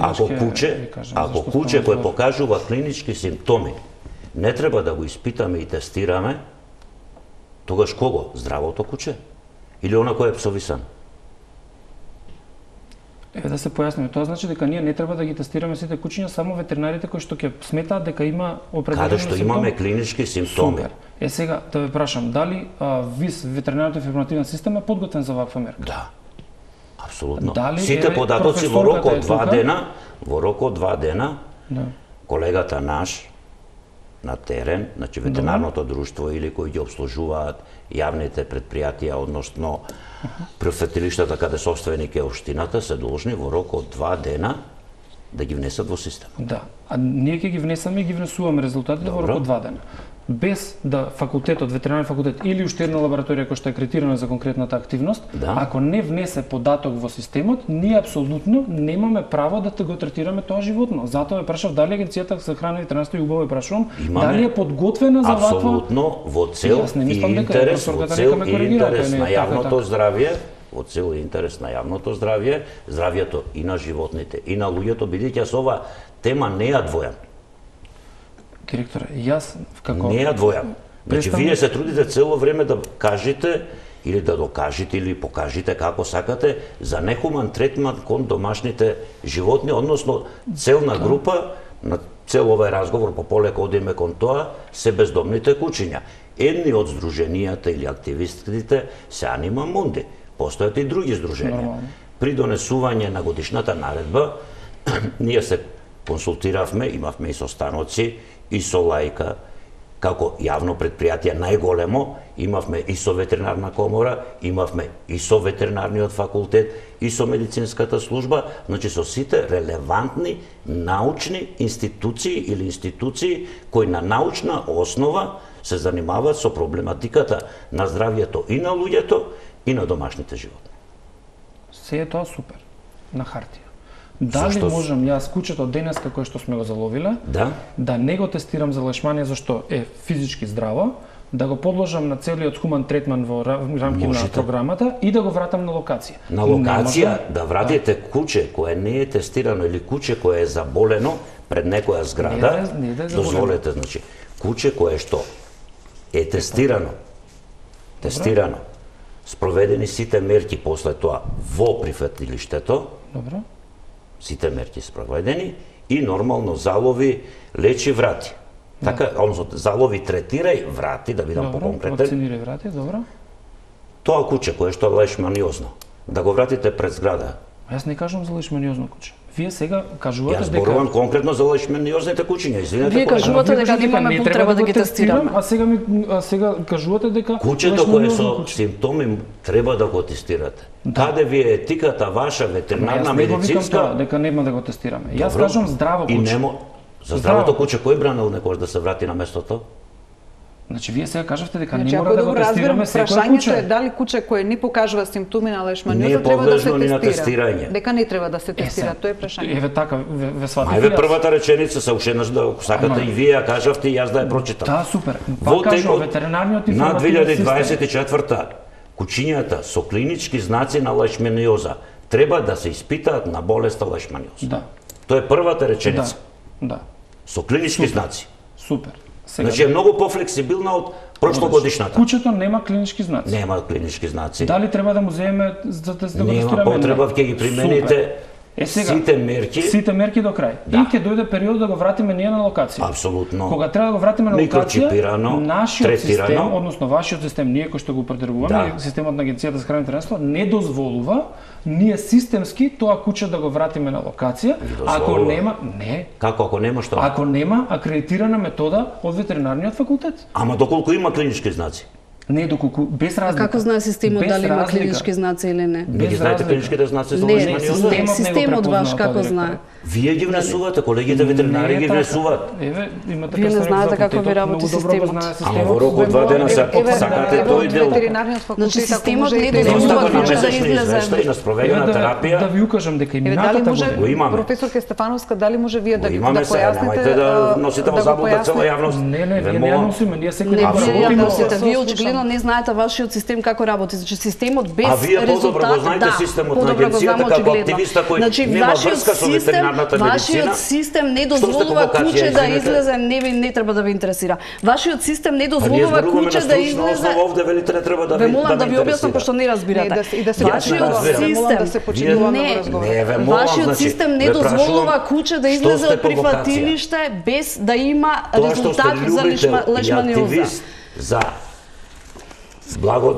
ако куче, ако куче кој покажува клинички симптоми, не треба да го испитаме и тестираме, тогаш кого? Здравото куче или она кој е псовисан? Еве да се појасниме, тоа значи дека ние не треба да ги тестираме сите кучиња, само ветеринарите кои што ќе сметаат дека има определени Каде што имаме клинички симптоми. Супер. Е сега да ве прашам, дали а, ВИС, ветеринарниот информативен систем е подготвен за ваква мерка? Да. Апсолутно. Дали, Сите еве, податоци во рок од два тука? дена, во рок од два дена, Да. колегата наш на терен, значи ветеринарното друштво или кои ги обслужуваат јавните предпријатија, односно префетилиштата каде собственик е општината, се должни во рок од два дена да ги внесат во системот. Да. А ние ќе ги внесаме и ги внесуваме резултатите во рок од два дена. Без да факултетот, ветеринарен факултет или уште една лабораторија која што е акредитирана за конкретната активност, Да. ако не внесе податок во системот, ние апсолутно немаме право да те го третираме тоа животно. Затоа ве прашав дали агенцијата за храна и ветеринарство и убаво ве прашувам, Имаме дали е подготвена за ваква. Апсолутно во цел Јас не и мислам дека интерес, во професорката цел нека ме и коригира, ако интерес не е на така, јавното така. здравје, во цел и интерес на јавното здравје, здравјето и на животните и на луѓето, бидејќи јас ова тема не ја двојам. Директоре, јас како Не ја двојам. Значи, Представник- вие се трудите цело време да кажете или да докажете или покажете како сакате за нехуман третман кон домашните животни, односно целна група на цел овој разговор по полека одиме кон тоа се бездомните кучиња. Едни од здруженијата или активистите се Анима Мунди, постојат и други здруженија. Нормално. При донесување на годишната наредба ние се консултиравме, имавме и состаноци и со лајка, како јавно предпријатие најголемо, имавме и со ветеринарна комора, имавме и со ветеринарниот факултет, и со медицинската служба, значи со сите релевантни научни институции или институции кои на научна основа се занимаваат со проблематиката на здравјето и на луѓето и на домашните животни. се е тоа супер на хартија. Дали Зашто? можам јас кучето денеска кое што сме го заловиле, Да? да не го тестирам за лешманија зашто е физички здраво, да го подложам на целиот хуман третман во ра- рамки на Можете. програмата и да го вратам на локација. На Не локација можам- да вратите куче кое не е тестирано или куче кое е заболено пред некоја зграда, Не да е- не да е заболено. дозволете, значи, куче кое што е тестирано, тестирано, спроведени сите мерки после тоа во прифатилиштето, Добро. сите мерки спроведени и нормално залови, лечи, врати. Така, односно залови, третирај, врати, да бидам Добро, поконкретен. вакцинирај врати, добро. Тоа куче кое што е лешманиозно, да го вратите пред зграда. Јас не кажувам за лешманиозно куче. Вие сега кажувате Јас дека зборувам конкретно за лешманиозните кучиња, извинете. Вие колега. кажувате Вие дека кажете немаме не потреба да го ги тестирам, тестираме. А сега ми а сега кажувате дека Кучето кое лешманиозно со куче. симптоми треба да го тестирате. Каде ви е етиката ваша ветеринарна, Јас не го викам медицинска? тоа, дека нема да го тестираме. Јас Добро. кажувам здраво И куче. немо за Здраво. здравото куче кој бранел некој да се врати на местото? Значи вие сега кажавте дека Значи, не ако мора да го добро разбирам, тестираме секој прашањето куче. е дали куче кое не покажува симптоми на Не лешманиоза е треба да се подлежно ни на тестира. тестирање. Дека не треба да се Е, тестира, се- тоа е прашање. Еве така, ве, ве сватите. Ајде јас. првата реченица се уште еднаш да ако сакате Ама- и вие ја кажавте и јас да ја прочитам. Да, супер. Во Пак кажувам, текот ветеринарниот на информативен две илјади дваесет систем. и четврта кучињата со клинички знаци на лешманиоза треба да се испитаат на болеста лешманиоза. Да, Тоа е првата да, реченица. да. Со клинички знаци. Супер. Сега, Значи е многу пофлексибилна од прошлогодишната. кучето нема клинички знаци. Нема клинички знаци. Дали треба да му земеме за да, да го Нема тестираме? потреба, Не. ќе ги примените Супер. Е, сега, сите мерки. Сите мерки до крај. Да. И ќе дојде период да го вратиме ние на локација. Апсолутно. Кога треба да го вратиме на локација, Микрочипирано, нашиот третирано. систем, односно вашиот систем, ние кои што го определуваме, Да. системот на Агенцијата за храна и ветеринарство не дозволува ние системски тоа куче да го вратиме на локација, ако дозволува. нема, не, Како ако нема што? ако нема акредитирана метода од ветеринарниот факултет. Ама доколку има клинички знаци. Не доколку без разлика. Како знае системот Без дали има разлика. клинички знаци или не? Не ги Без знаете разлика. клиничките знаци за Не, лешманиоза? системот не го системот препознава ваш тоа, како директор. знае? Вие ги внесувате, колегите ветеринари Не е ги така. внесуваат. Еве, имате Вие не представник знаете за како ви факултетот, работи многу добро го системот. знае Ама системот. во рок од два дена се Еве, сакате еве, тој од дел. ветеринарниот факултет, Значи, ако системот може не и дозволува да Доставка на куче да месечни излезе. извештаи на Еве спроведена да, терапија. да ви укажам дека и Еве, дали минатата може, Го имаме. професорка Стефановска, дали може вие да, Го да имаме сега, појасните, немајте да а, носите во да го заблуда цела појасните? јавност. Не, не, Ве вие не ја молам. носиме, ние секој Не, ден вие ја Апсолутно. носите, вие Слушам, очигледно Очигледно не знаете вашиот систем како работи. Значи системот без а вие резултат, подобро го знаете да, системот на подобро го агенцијата знам како очигледно. активиста кој Значи, нема вашиот врска со систем, ветеринарната медицина. вашиот систем не Што сте дозволува по вакација, куче да извинете? излезе, не ви не треба да ви интересира. Вашиот систем не Па ние дозволува зборуваме куче на да стручна излезе. основа, овде велите не треба да Ве ви молам да ме ви објаснам интересира. пошто не разбирате. Не, да се- и да се Вашиот разбирам. Ве молам да се систем почитуваме Вие- во разговор. Не, ве молам, Вашиот значи, систем не ве дозволува прашувам, куче да што излезе сте од по вакација? прифатилиште без да има Тоа што сте резултат за лишма, љубител и лешманиоза. активист за благо,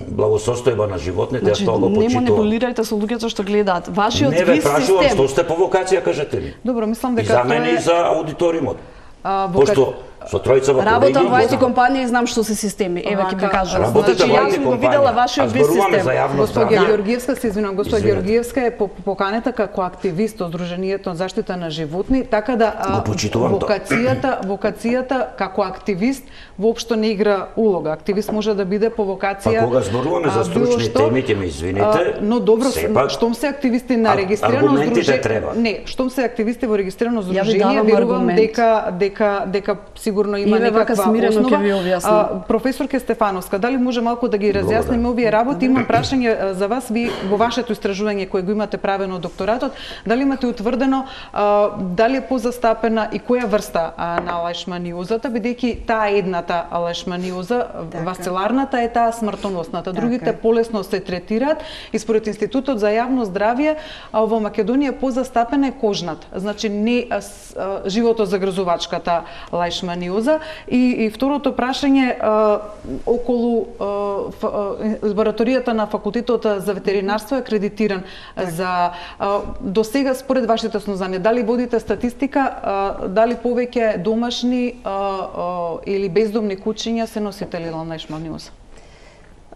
благосостојба на животните, Значи, ја тоа го не почитувам. манипулирајте со луѓето што гледаат. Вашиот Не ве виз прашувам систем. што сте по вакација, кажете ми. Добро, мислам И дека за тоа мене е- и за аудиториумот. А, во Пошто со тројцава Работам во колеги ай ти го знам. компанија и знам што се системи. Еве ќе ви Вака, кажам. Работите Значи, во јас ай ти сум го компанија, видела а вашиот виз зборуваме систем. за јавно Госпоѓа здравје. Георгиевска, се извинувам, госпоѓа Извинете. Георгиевска е по- поканета како активист од Сдруженијето за заштита на животни, така да а, Го почитувам тоа. вокацијата, вокацијата како активист воопшто не игра улога. Активист може да биде по вокација. Па кога зборуваме за а, било стручни што, теми, ќе ме извините, а, но добро, сепак, штом се активисти на ар- регистрирано аргументите здружение, треба. не, штом се активисти во регистрирано Ја ви здружение, давам верувам аргумент. дека дека дека сигурно има И ве вака некаква смирено основа. ќе ви објаснам. А, професорке Стефановска, дали може малку да ги разјасниме овие работи? Имам прашање а, за вас, ви во вашето истражување кое го имате правено докторатот, дали имате утврдено а, дали е позастапена и која врста а, на лешманиозата, бидејќи таа е едната лешманиоза, Така. васцеларната е таа смртоносната, другите Така. полесно се третираат и според Институтот за јавно здравје а, во Македонија позастапена е кожната, значи не а, с- а, животозагрзувачката лешманиоза. И, и второто прашање а, околу а, ф, а, лабораторијата на факултетот за ветеринарство е акредитиран за а, до сега според вашите сознанија, дали водите статистика, а, дали повеќе домашни а, а, или бездомни кучиња се носители на лешманиоза?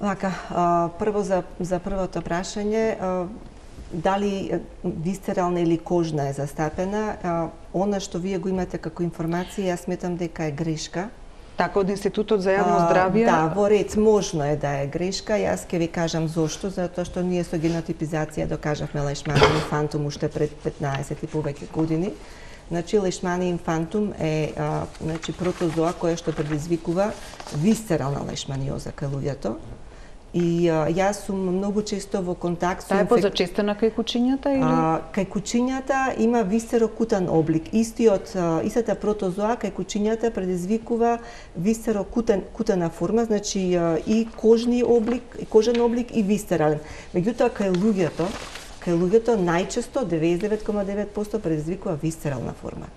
Вака, а, прво за, за првото прашање, а, дали е, висцерална или кожна е застапена, а, она што вие го имате како информација, јас сметам дека е грешка. Така, од Институтот за јавно А, здравје. Да, во ред можно е да е грешка. Јас ќе ви кажам зошто, затоа што ние со генотипизација докажавме лешманиум инфантум уште пред петнаесет и повеќе години. Значи, лешманиум инфантум е а, значи, протозоа која што предизвикува висцерална лешманиоза кај луѓето. И а, јас сум многу често во контакт со Таа е инфек- позачестена кај кучињата или? А, кај кучињата има висцерокутан облик. Истиот, а, истата протозоа кај кучињата предизвикува висцерокутен кутена форма, значи а, и кожни облик, и кожен облик и висцерален. Меѓутоа кај луѓето, кај луѓето најчесто деветдесет и девет кoma девет проценти предизвикува висцерална форма.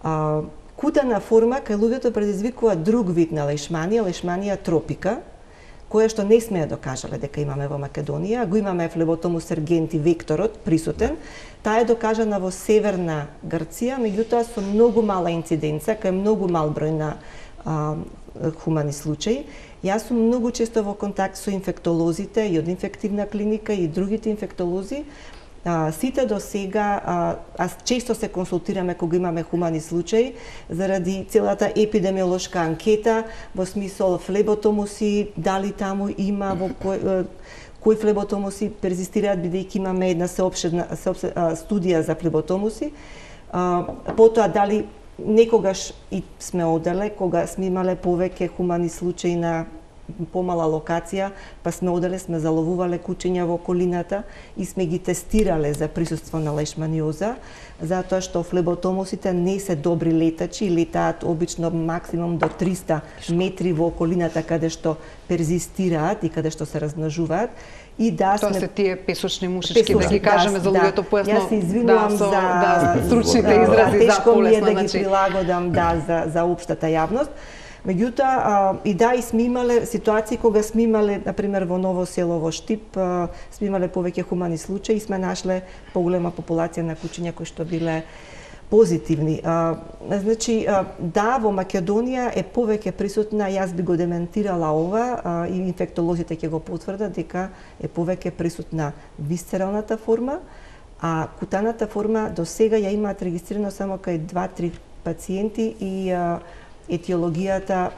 А, кутена форма кај луѓето предизвикува друг вид на лешманија, лешманија тропика, која што не сме ја докажале дека имаме во Македонија, го имаме флеботомус сергенти векторот присутен. Таа е докажана во северна Грција, меѓутоа со многу мала инциденца, кај многу мал број на а, хумани случаи. Јас сум многу често во контакт со инфектолозите и од инфективна клиника и другите инфектолози. А, сите до сега, а, аз често се консултираме кога имаме хумани случаи, заради целата епидемиолошка анкета, во смисол флеботомуси, дали таму има, во кој, кои флеботомуси перзистираат, бидејќи имаме една сеопшедна сеопсе, а, студија за флеботомуси. А, потоа, дали некогаш и сме оделе, кога сме имале повеќе хумани случаи на помала локација, па сме оделе, сме заловувале кучиња во околината и сме ги тестирале за присуство на лешманиоза, затоа што флеботомусите не се добри летачи и летаат обично максимум до триста метри во околината каде што перзистираат и каде што се размножуваат. И да Тоа сме се тие песочни мушички, да Песочни, ги кажеме за луѓето појасно. Јас се извинувам да, со, за да, стручните да, изрази за тешко ми е полесно, да ги значи. прилагодам да за за општата јавност. Меѓутоа, а, и да, и сме имале ситуации кога сме имале, например, во Ново село, во Штип, а, сме имале повеќе хумани случаи и сме нашле поголема популација на кучиња кои што биле позитивни. А, значи, а, да, во Македонија е повеќе присутна, јас би го дементирала ова, а, и инфектолозите ќе го потврдат дека е повеќе присутна висцералната форма, а кутаната форма до сега ја имаат регистрирано само кај два-три пациенти и а, етиологијата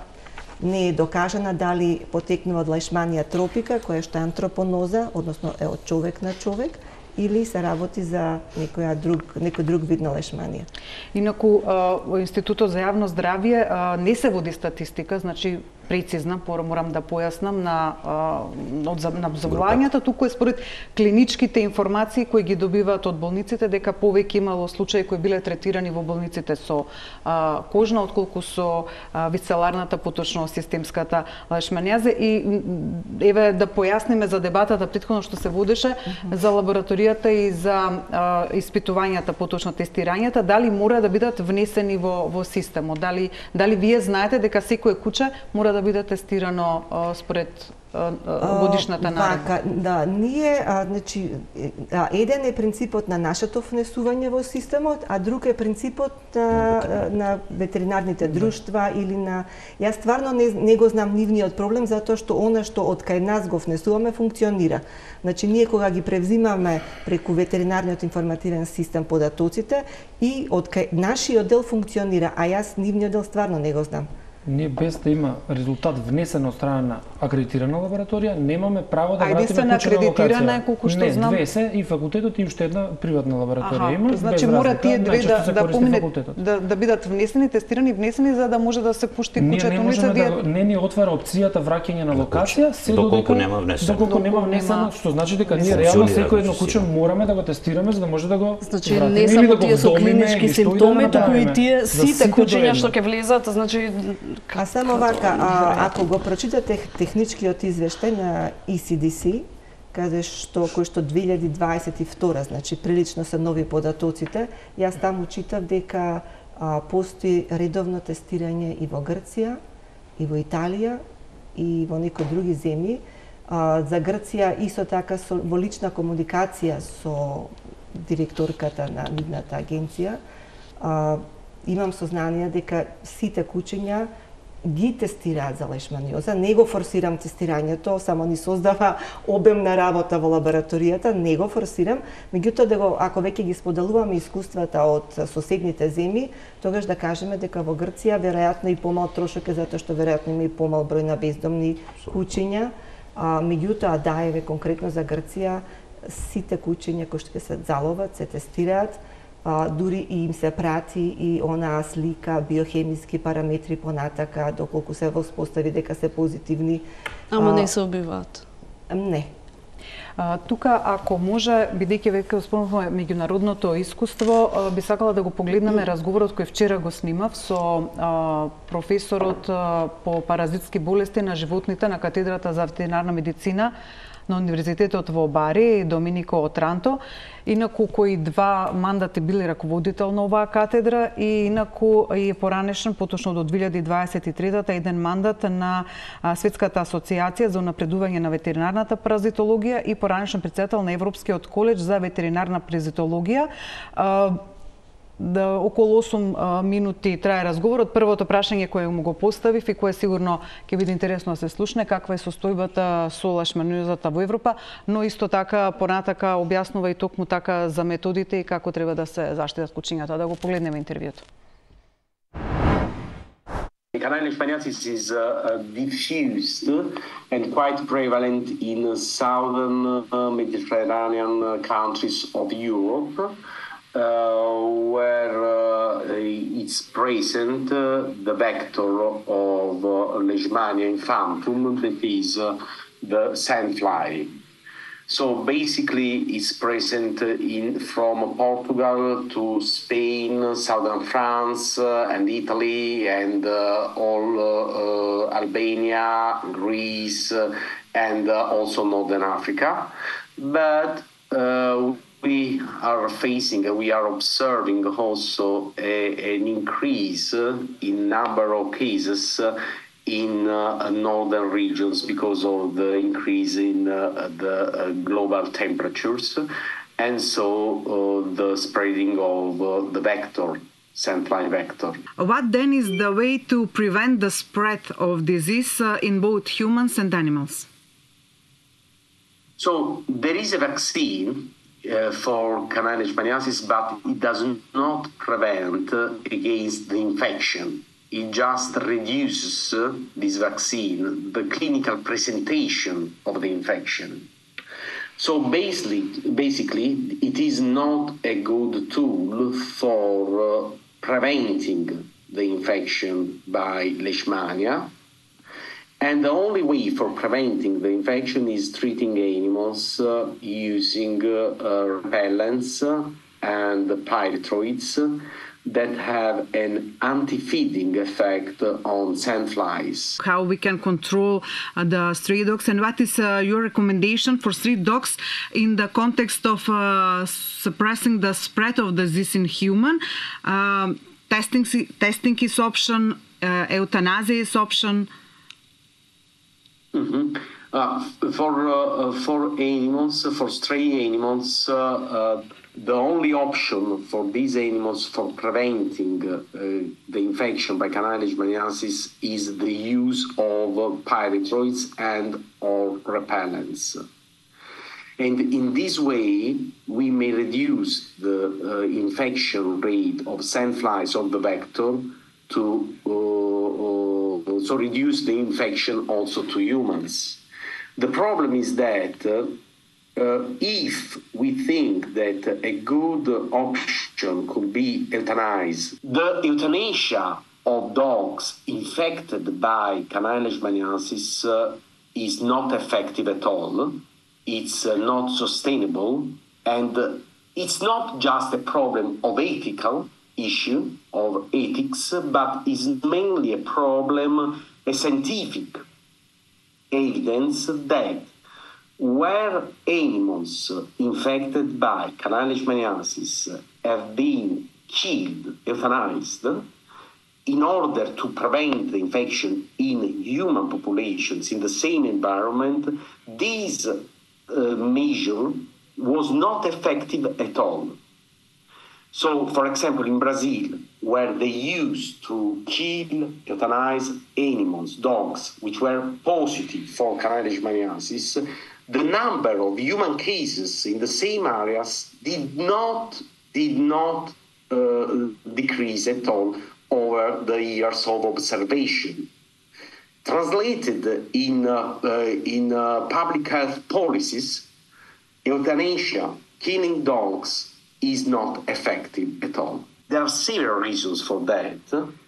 не е докажана дали потекнува од лешманија тропика, која што е антропоноза, односно е од човек на човек, или се работи за некоја друг, некој друг вид на лешманија. Инаку, во Институтот за јавно здравје а, не се води статистика, значи прецизна, морам да појаснам, на, од, на заболувањата, туку е според клиничките информации кои ги добиваат од болниците, дека повеќе имало случаи кои биле третирани во болниците со а, кожна, отколку со а, висцеларната, поточно системската лешманијаза. И еве да појасниме за дебатата претходно што се водеше uh -huh. за лабораторијата и за а, испитувањата, поточно тестирањата, дали мора да бидат внесени во, во системот? Дали, дали вие знаете дека секое куче мора да биде тестирано а, според годишната наредба? Вака, да, ние, а, значи, а, еден е принципот на нашето внесување во системот, а друг е принципот на, на ветеринарните друштва или на... Јас стварно не, не го знам нивниот проблем, затоа што она што од кај нас го внесуваме функционира. Значи, ние кога ги превзимаме преку ветеринарниот информативен систем податоците и од кај нашиот дел функционира, а јас нивниот дел стварно не го знам. Ние без да има резултат внесен од страна на акредитирана лабораторија, немаме право да вратиме куче на локација. Акредитирана колку што не, знам. Не, две се и факултетот и уште една приватна лабораторија Аха, има. Значи без мора разлика, тие две да да помине да, да бидат внесени, тестирани, внесени за да може да се пушти кучето лице. Ние да не ни отвара опцијата враќање на локација, се доколку нема внесено. Доколку нема внесено, што значи дека ние реално секој едно куче мораме да го тестираме за да може да го Значи не само тие со клинички симптоми, туку и тие сите кучиња што ќе влезат, значи а само вака, а, ако го прочитате техничкиот извештај на И Си Ди Си, каде што кој што две илјади дваесет и втора, значи прилично се нови податоците, јас таму читав дека а, постои редовно тестирање и во Грција, и во Италија, и во некои други земји. А, за Грција исто така со, во лична комуникација со директорката на нивната агенција, а, имам сознание дека сите кучиња ги тестираат за лешманиоза. Не го форсирам тестирањето, само ни создава обемна работа во лабораторијата, не го форсирам, меѓутоа да го, ако веќе ги споделуваме искуствата од соседните земји, тогаш да кажеме дека во Грција веројатно и помал трошок е затоа што веројатно има и помал број на бездомни кучиња, а, меѓутоа да, еве конкретно за Грција сите кучиња кои што се заловат се тестираат. А, дури и им се прати и онаа слика, биохемиски параметри понатака, доколку се воспостави дека се позитивни. Ама а, не се убиваат? Не. А, тука, ако може, бидејќи веќе спомнавме меѓународното искуство, а, би сакала да го погледнеме разговорот кој вчера го снимав со а, професорот а, по паразитски болести на животните на катедрата за ветеринарна медицина на Универзитетот во Бари, Доминико Отранто, инаку кои два мандати били раководител на оваа катедра и инаку е поранешен, поточно до две илјади дваесет и трета еден мандат на Светската асоциација за унапредување на ветеринарната паразитологија и поранешен претседател на Европскиот колеж за ветеринарна паразитологија. Да, околу осум а, минути трае разговорот. Првото прашање кое му го поставив и кое сигурно ќе биде интересно да се слушне, каква е состојбата со лешманиозата во Европа, но исто така понатака објаснува и токму така за методите и како треба да се заштитат кучињата. Да го погледнеме интервјуто. Canine leishmaniasis is uh, diffused and quite prevalent in southern uh, Mediterranean countries of Europe. Uh, where uh, it's present uh, the vector of uh, Leishmania infantum, that is uh, the sandfly. So basically, it's present in from Portugal to Spain, southern France, uh, and Italy, and uh, all uh, uh, Albania, Greece, uh, and uh, also Northern Africa. But uh, we are facing, we are observing also a, an increase in number of cases in uh, northern regions because of the increase in uh, the uh, global temperatures, and so uh, the spreading of uh, the vector, sandfly vector. What then is the way to prevent the spread of disease uh, in both humans and animals? So there is a vaccine Uh, for canine leishmaniasis, but it does not prevent uh, against the infection. It just reduces uh, this vaccine, the clinical presentation of the infection. So basically, basically, it is not a good tool for uh, preventing the infection by Leishmania. And the only way for preventing the infection is treating animals uh, using uh, uh, repellents uh, and pyrethroids that have an anti-feeding effect on sandflies. How we can control uh, the stray dogs, and what is uh, your recommendation for stray dogs in the context of uh, suppressing the spread of disease in human? Um, testing, testing is option, uh, euthanasia is option. Mm-hmm. Uh, for uh, for animals, for stray animals, uh, uh, the only option for these animals for preventing uh, the infection by canine leishmaniasis is the use of uh, pyrethroids and or repellents. And in this way, we may reduce the uh, infection rate of sandflies of the vector to uh, uh, so reduce the infection also to humans. The problem is that uh, uh, if we think that a good option could be euthanasia, the euthanasia of dogs infected by canine leishmaniasis uh, is not effective at all. It's uh, not sustainable, and uh, it's not just a problem of ethical issue of ethics, but is mainly a problem, a scientific evidence that where animals infected by canine leishmaniasis have been killed, euthanized, in order to prevent the infection in human populations in the same environment, this uh, measure was not effective at all. So, for example, in Brazil, where they used to kill, euthanize animals, dogs, which were positive for canine leishmaniasis, the number of human cases in the same areas did not did not uh, decrease at all over the years of observation. Translated in uh, uh, in uh, public health policies, euthanasia, killing dogs, is not effective at all. There are several reasons for that.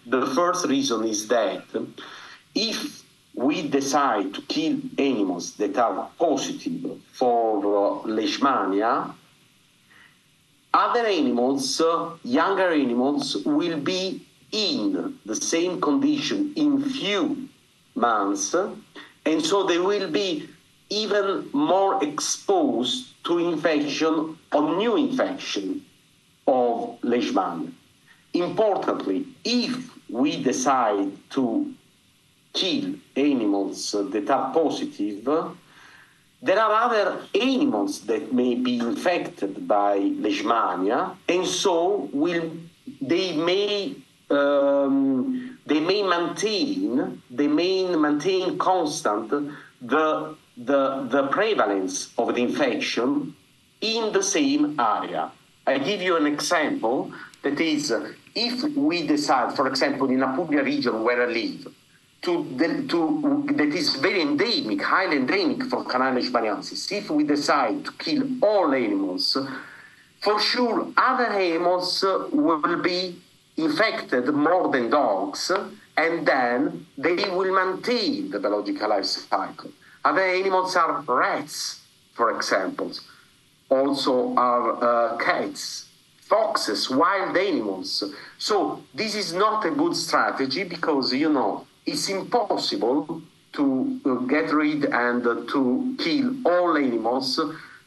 The first reason is that if we decide to kill animals that are positive for uh, leishmania, other animals, uh, younger animals, will be in the same condition in few months, and so they will be even more exposed to infection or new infection of leishmania. Importantly, if we decide to kill animals that are positive, there are other animals that may be infected by leishmania, and so will they may um, they may maintain they may maintain constant the the the prevalence of the infection in the same area. I give you an example. That is, if we decide, for example, in Apulia region where I live, to, to that is very endemic, highly endemic for canine leishmaniasis, if we decide to kill all animals, for sure other animals will be infected more than dogs, and then they will maintain the biological life cycle. Other animals are rats, for example, also are uh, cats, foxes, wild animals. So this is not a good strategy because, you know, it's impossible to uh, get rid and uh, to kill all animals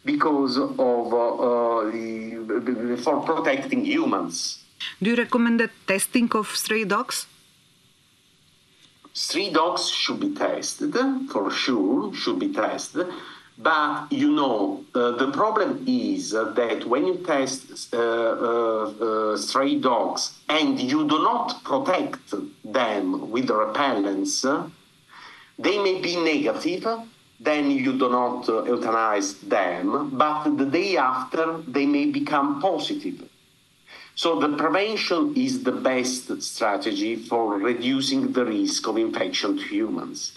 because of uh, uh, the, for protecting humans. Do you recommend the testing of stray dogs? Stray dogs should be tested, for sure, should be tested. But, you know, uh, the problem is uh, that when you test uh, uh, uh, stray dogs and you do not protect them with the repellents, uh, they may be negative, then you do not uh, euthanize them, but the day after they may become positive. So the prevention is the best strategy for reducing the risk of infection to humans.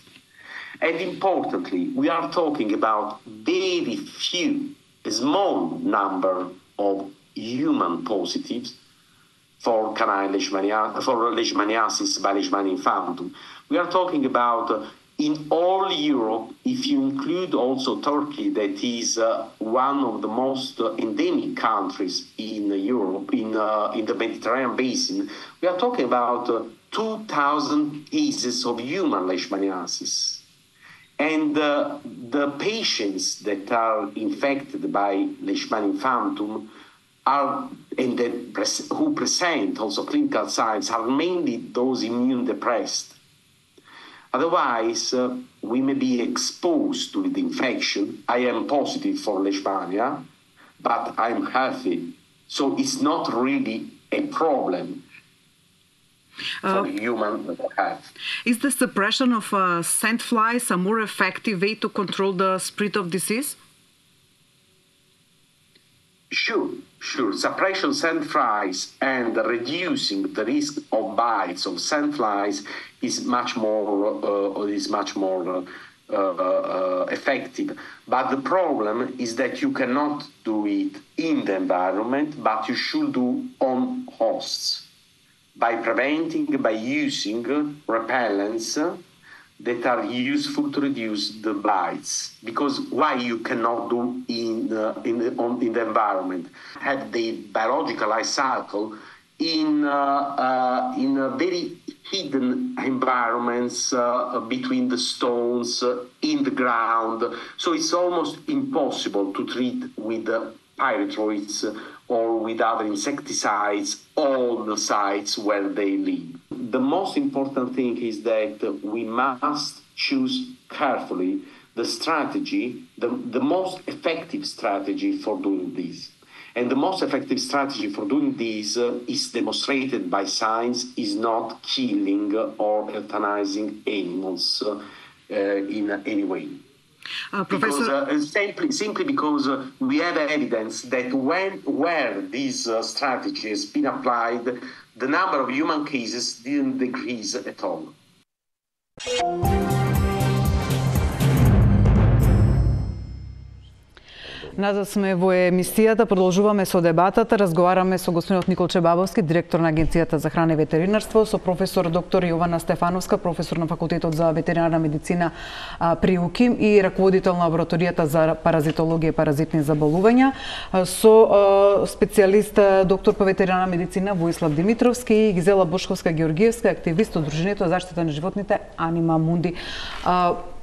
And importantly, we are talking about very few, a small number of human positives for canine leishmania, for leishmaniasis by Leishmania infantum. We are talking about in all Europe, if you include also Turkey, that is uh, one of the most uh, endemic countries in uh, Europe, in uh, in the Mediterranean basin, we are talking about uh, two thousand cases of human leishmaniasis. And uh, the patients that are infected by Leishmania infantum are, and that pres- who present also clinical signs, are mainly those immune depressed. Otherwise, uh, we may be exposed to the infection. I am positive for Leishmania, but I'm healthy. So it's not really a problem for uh, human health. Is the suppression of uh, sand flies a more effective way to control the spread of disease? Sure, sure. Suppression of sandflies and reducing the risk of bites of sandflies is much more uh, is much more uh, uh, effective. But the problem is that you cannot do it in the environment, but you should do on hosts by preventing, by using repellents that are useful to reduce the bites. Because why you cannot do in uh, in the on, in the environment? Have the biological life cycle in uh, uh, in a very hidden environments uh, between the stones, uh, in the ground. So it's almost impossible to treat with the pyrethroids or with other insecticides all the sites where they live. The most important thing is that we must choose carefully the strategy, the, the most effective strategy for doing this. And the most effective strategy for doing this uh, is demonstrated by science, is not killing or euthanizing animals uh, uh, in any way. Uh, Professor... Because, uh, simply, simply because uh, we have evidence that when where this uh, strategy has been applied, the number of human cases didn't decrease at all. Назад сме во емисијата, продолжуваме со дебатата, разговараме со господинот Николче Бабовски, директор на Агенцијата за храна и ветеринарство, со професор доктор Јована Стефановска, професор на Факултетот за ветеринарна медицина при УКИМ и раководител на лабораторијата за паразитологија и паразитни заболувања, со специјалист доктор по ветеринарна медицина Воислав Димитровски и Гизела Бошковска-Георгиевска, активист од Дружењето за заштита на животните Анима Мунди.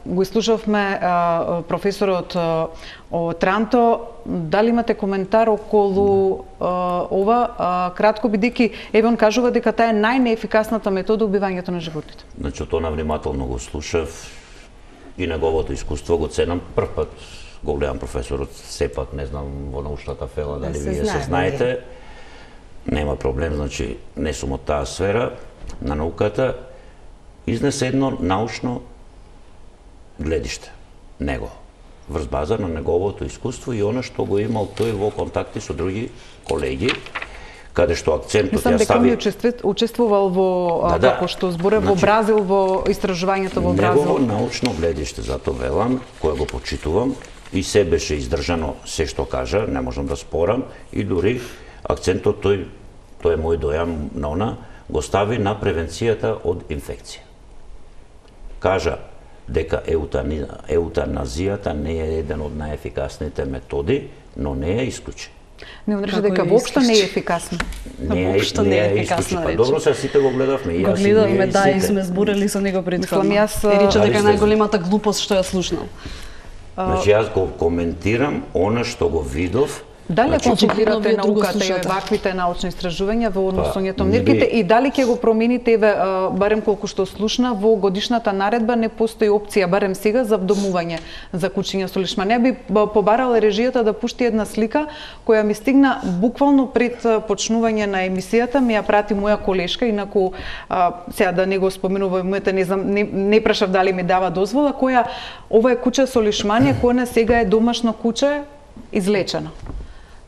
Го изслушавме а, професорот а, од Транто. Дали имате коментар околу а, ова? А, кратко бидејќи еве он кажува дека таа е најнеефикасната метода убивањето на животните. Значи, тоа внимателно го слушав и неговото искуство го ценам. Прв пат го гледам професорот, сепак не знам во научната фела дали вие се знаете. Нема проблем, значи не сум од таа сфера на науката. Изнесе едно научно гледиште него, врз база на неговото искуство и она што го имал тој во контакти со други колеги, каде што акцентот ја стави... Дека ми учествувал во, да, да. како што зборе, значи, во Бразил, во истражувањето во Бразил. Негово научно гледиште, затоа велам, кое го почитувам, и се беше издржано се што кажа, не можам да спорам, и дури акцентот тој, тој е мој дојам на она, го стави на превенцијата од инфекција. Кажа дека еутаназијата не е еден од најефикасните методи, но не е исклучен. Не рече дека воопшто не е ефикасно. Не е воопшто не е ефикасно. Па добро, се сите го гледавме и јас. Го гледавме, да, и сме зборели со него претходно. И рече дека најголемата глупост што ја слушнал. Значи јас го коментирам она што го видов. Дали значи, консултирате науката и ваквите научни истражувања во односувањето па, мерките и дали ќе го промените, еве, барем колку што слушна, во годишната наредба не постои опција, барем сега, за вдомување за кучиња со лишманија. Би побарала режијата да пушти една слика која ми стигна буквално пред почнување на емисијата, ми ја прати моја колешка, инаку а, сега да не го споменувам името, не знам, не, не прашав дали ми дава дозвола, која ова е куче со лишманија, која на сега е домашно куче излечено.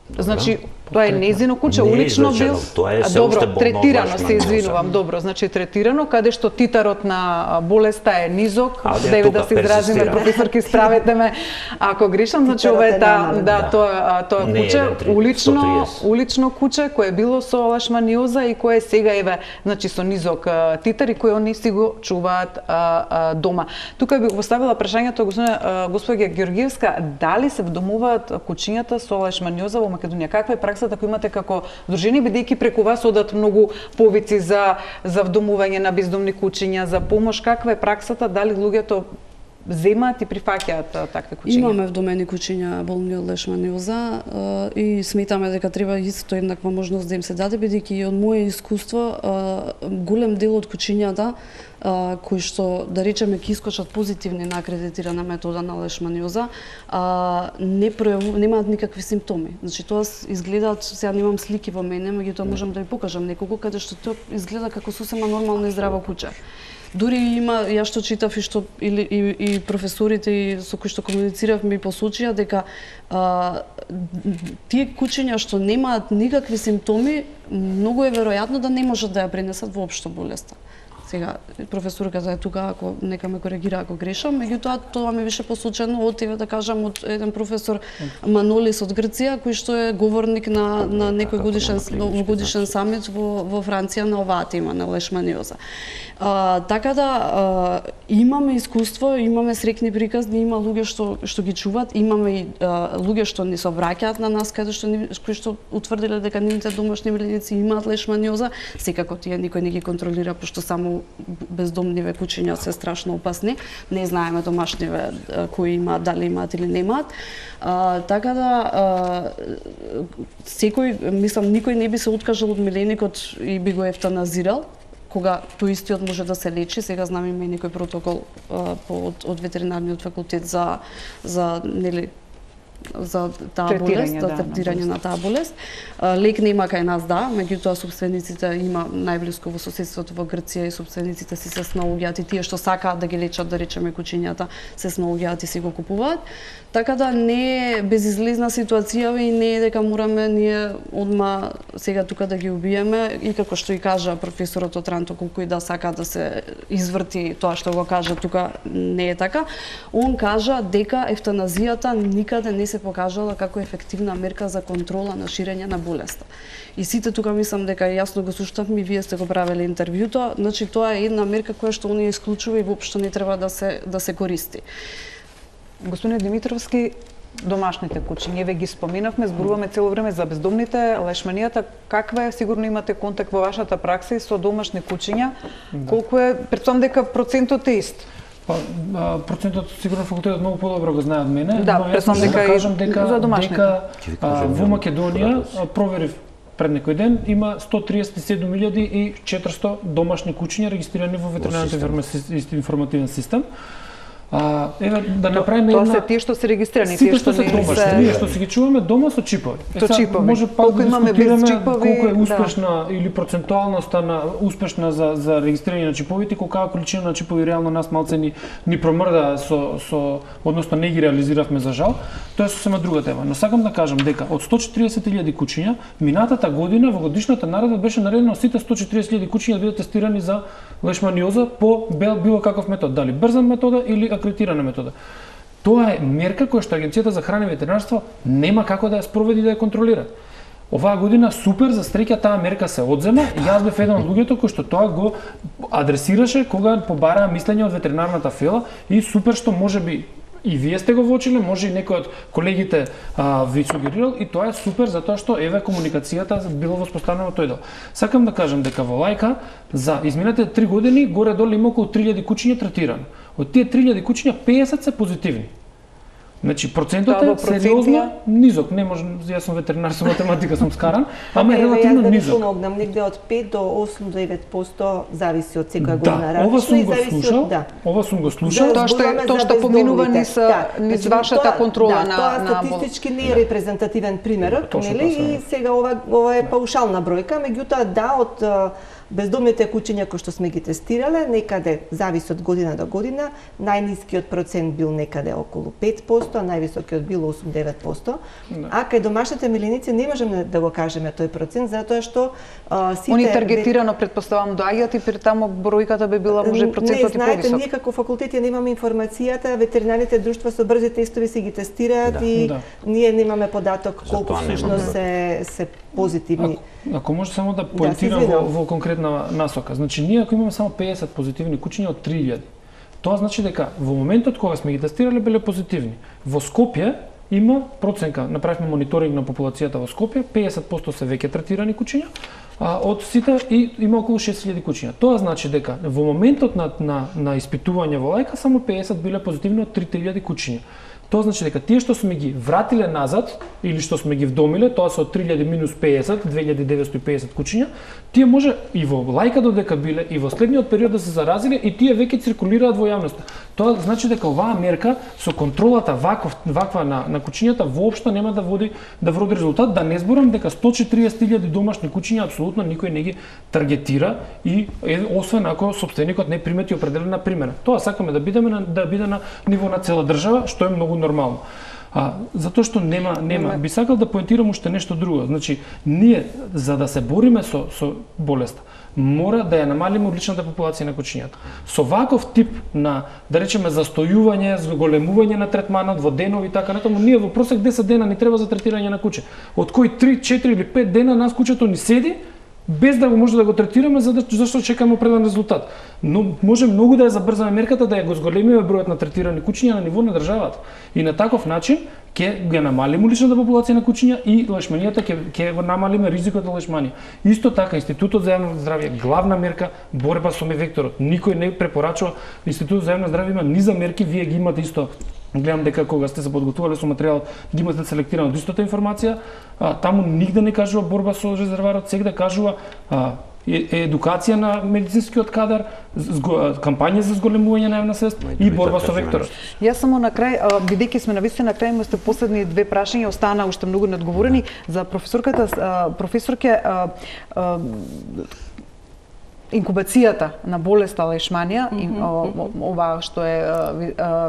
Добра. Значи, Тоа е нејзино куче, Не е улично бил. излечено, тоа е се Добро, уште болна третирано, лешманиоза. се извинувам, добро, значи третирано, каде што титарот на болеста е низок, А, да тука да се изразиме, персистира. професорки, справете ме ако грешам, значи Титарот ова е е таа, намален, да, да. тоа тоа Не, куче, еден три, улично, сто триесет. улично куче кое е било со лешманиоза и кое сега еве, значи со низок а, титар и кој они си го чуваат а, а, дома. Тука би го поставила прашањето господина господја Георгиевска, дали се вдомуваат кучињата со лешманиоза во Македонија? Каква е праксата која имате како дружини, бидејќи преку вас одат многу повици за за вдомување на бездомни кучиња, за помош? Каква е праксата? Дали луѓето земаат и прифаќаат а, такви кучиња? Имаме вдомени кучиња болни од лешманиоза а, и сметаме дека треба исто еднаква можност да им се даде, бидејќи од мое искуство а, голем дел од кучињата а, кои што, да речеме, ќе искочат позитивни на акредитирана метода на лешманиоза, а, не пројаву, немаат никакви симптоми. Значи тоа изгледаат, сега немам слики во мене, меѓутоа можам да ви покажам неколку каде што тоа изгледа како сосема нормално и здраво куче. Дури има, ја што читав и што или и, и професорите и со кои што комуницирав ми посочија дека а, тие кучиња што немаат никакви симптоми, многу е веројатно да не можат да ја пренесат воопшто болеста. Сега, професорката е тука, ако нека ме коригира ако грешам, меѓутоа тоа ми беше посочено од еве да кажам од еден професор Манолис од Грција, кој што е говорник на на некој годишен годишен самит во во Франција на оваа тема на лешманиоза. А, така да а, имаме искуство, имаме срекни приказни, има луѓе што што ги чуваат, имаме и а, луѓе што ни се обраќаат на нас каде што ни, кои што утврдиле дека нивните домашни миленици имаат лешманиоза, секако тие никој не ги контролира пошто само бездомниве кучиња се страшно опасни. Не знаеме домашниве кои имаат, дали имаат или немаат. А, така да а, секој, мислам, никој не би се откажал од миленикот и би го ефтаназирал, кога тој истиот може да се лечи. Сега знам има и некој протокол а, по, од, од ветеринарниот факултет за за нели за таа болест, за да, третирање на на таа болест. А, лек нема кај нас, да, меѓутоа собствениците има најблиску во соседството во Грција и собствениците си се снаоѓаат и тие што сакаат да ги лечат, да речеме, кучињата, се снаоѓаат и си го купуваат. Така да не е безизлезна ситуација и не е дека мораме ние одма сега тука да ги убиеме и како што и кажа професорот Отранто, колку и да сака да се изврти тоа што го кажа тука, не е така. Он кажа дека ефтаназијата никаде не се покажала како ефективна мерка за контрола на ширење на болеста. И сите тука мислам дека јасно го слушнавме, вие сте го правеле интервјуто, значи тоа е една мерка која што оние исклучува и воопшто не треба да се да се користи. Господине Димитровски, домашните кучиња, ве ги споменавме, зборуваме цело време за бездомните, лешманијата. Каква е, сигурно имате контакт во вашата пракса и со домашни кучиња? Да. Колку е, претпоставам дека процентот е ист? Па, а, процентот сигурно факултетот многу подобро го знае од мене, да, но јас претпоставам дека да кажам дека за домашните. дека а, во Македонија а, проверив пред некој ден има сто триесет и седум илјади и четиристо домашни кучиња регистрирани во ветеринарниот информативен систем. А, еве да направиме тоа една... се тие што се регистрирани, тие што што се не домашни, се... ние што си ги чуваме дома со чипови. Со чипови. Може пак колку да имаме без дискутираме чипови, колку е да. успешна или процентуалноста на успешна за за регистрирање на чиповите, колка количина на чипови реално нас малце ни ни промрда со со односно не ги реализиравме за жал. Тоа е сосема друга тема. Но сакам да кажам дека од сто четиридесет илјади кучиња минатата година во годишната наредба беше наредено сите сто четиридесет илјади кучиња да бидат тестирани за лешманиоза по било каков метод, дали брза метода или акредитирана метода. Тоа е мерка која што Агенцијата за храна и ветеринарство нема како да ја спроведи да ја контролира. Оваа година супер за среќа таа мерка се одзема и јас бев еден од луѓето кој што тоа го адресираше кога побараа мислење од ветеринарната фела и супер што можеби и вие сте го воочиле, може и некој од колегите а, ви сугерирал и тоа е супер затоа што еве комуникацијата била воспоставена во тој дел. Сакам да кажам дека во Лајка за изминатите три години горе-долу има околу три илјади кучиња третирани. Од тие три илјади кучиња песет се позитивни. Значи процентот е сериозно низок, не може, јас сум ветеринар со математика сум скаран, ама е релативно да низок. Да помогнам, негде од пет до осум до девет проценти зависи од секоја Да, година. ова сум го зависи слушал, од- да. ова сум го слушал. Тоа што е- тоа што поминува низ, низ Значи, вашата тоа- контрола да, на- тоа на бол- статистички не е репрезентативен примерот, Точно нели? тоа се. И сега ова ова е паушална бројка, меѓутоа да од а, Бездомните куќиња кои што сме ги тестирале, некаде зависи од година до година, најнискиот процент бил некаде околу пет посто, а највисокиот бил осум до девет посто. Да. А кај домашните миленици не можеме да го кажеме тој процент, затоа што а, сите... Они таргетирано, предпоставам, доаѓаат и при таму бројката би била може процентот и повисок. Не, знаете, ние како факултет ја немаме информацијата, ветеринарните друштва со брзи тестови си ги тестираат да. и да. ние немаме податок колку всушност се, се позитивни. Ако, ако може само да поентирам да, во, во конкретна насока. Значи, ние ако имаме само педесет позитивни куќиња од три илјади, тоа значи дека во моментот кога сме ги тестирале биле позитивни. Во Скопје има проценка, направивме мониторинг на популацијата во Скопје, педесет посто се веќе третирани куќиња, а од сите и има околу шест илјади куќиња. Тоа значи дека во моментот на, на, на испитување во лајка само педесет биле позитивни од три илјади куќиња. Тоа значи дека тие што сме ги вратиле назад или што сме ги вдомиле, тоа се од три илјади минус педесет, две илјади деветстотини и педесет куќиња, тие може и во лајка додека биле и во следниот период да се заразиле и тие веќе циркулираат во јавноста. Тоа значи дека оваа мерка со контролата ваков, ваква на, на куќињата воопшто нема да води да вроди резултат, да не зборам дека сто и четириесет илјади домашни куќиња апсолутно никој не ги таргетира и е, освен ако сопственикот не примети определена примера. Тоа сакаме да бидеме на, да биде на ниво на цела држава, што е многу нормално. А, затоа што нема, нема. Би сакал да поентирам уште нешто друго. Значи, ние, за да се бориме со, со болеста, мора да ја намалиме одличната популација на куќињата. Со ваков тип на, да речеме, застојување, зголемување на третманот во денови и така натаму, ние во просек десет дена ни треба за третирање на куќе. Од кои три, четири или пет дена нас куќето ни седи, без да го може да го третираме, за да, зашто чекаме определен резултат. Но може многу да ја забрзаме мерката, да ја го зголемиме бројот на третирани куќиња на ниво на државата. И на таков начин ќе ја намалиме уличната популација на куќиња и лешманијата ќе ќе го намалиме ризикот од лешманија. Исто така Институтот за јавно здравје главна мерка борба со мевекторот. Никој не препорачува. Институтот за јавно здравје има низа мерки, вие ги имате исто. Гледам дека кога сте се подготвувале со материјалот, ги имате селектирано истата информација. А, таму нигде не кажува борба со резерварот, сегде кажува а, е, едукација на медицинскиот кадар, зго, кампања за зголемување на јавна свест и борба со векторот. Јас само на крај, бидејќи сме навистина на крај, имате последни две прашања, остана уште многу неодговорени за професорката, професорке. Инкубацијата на болеста лешманија, mm -hmm. ова што е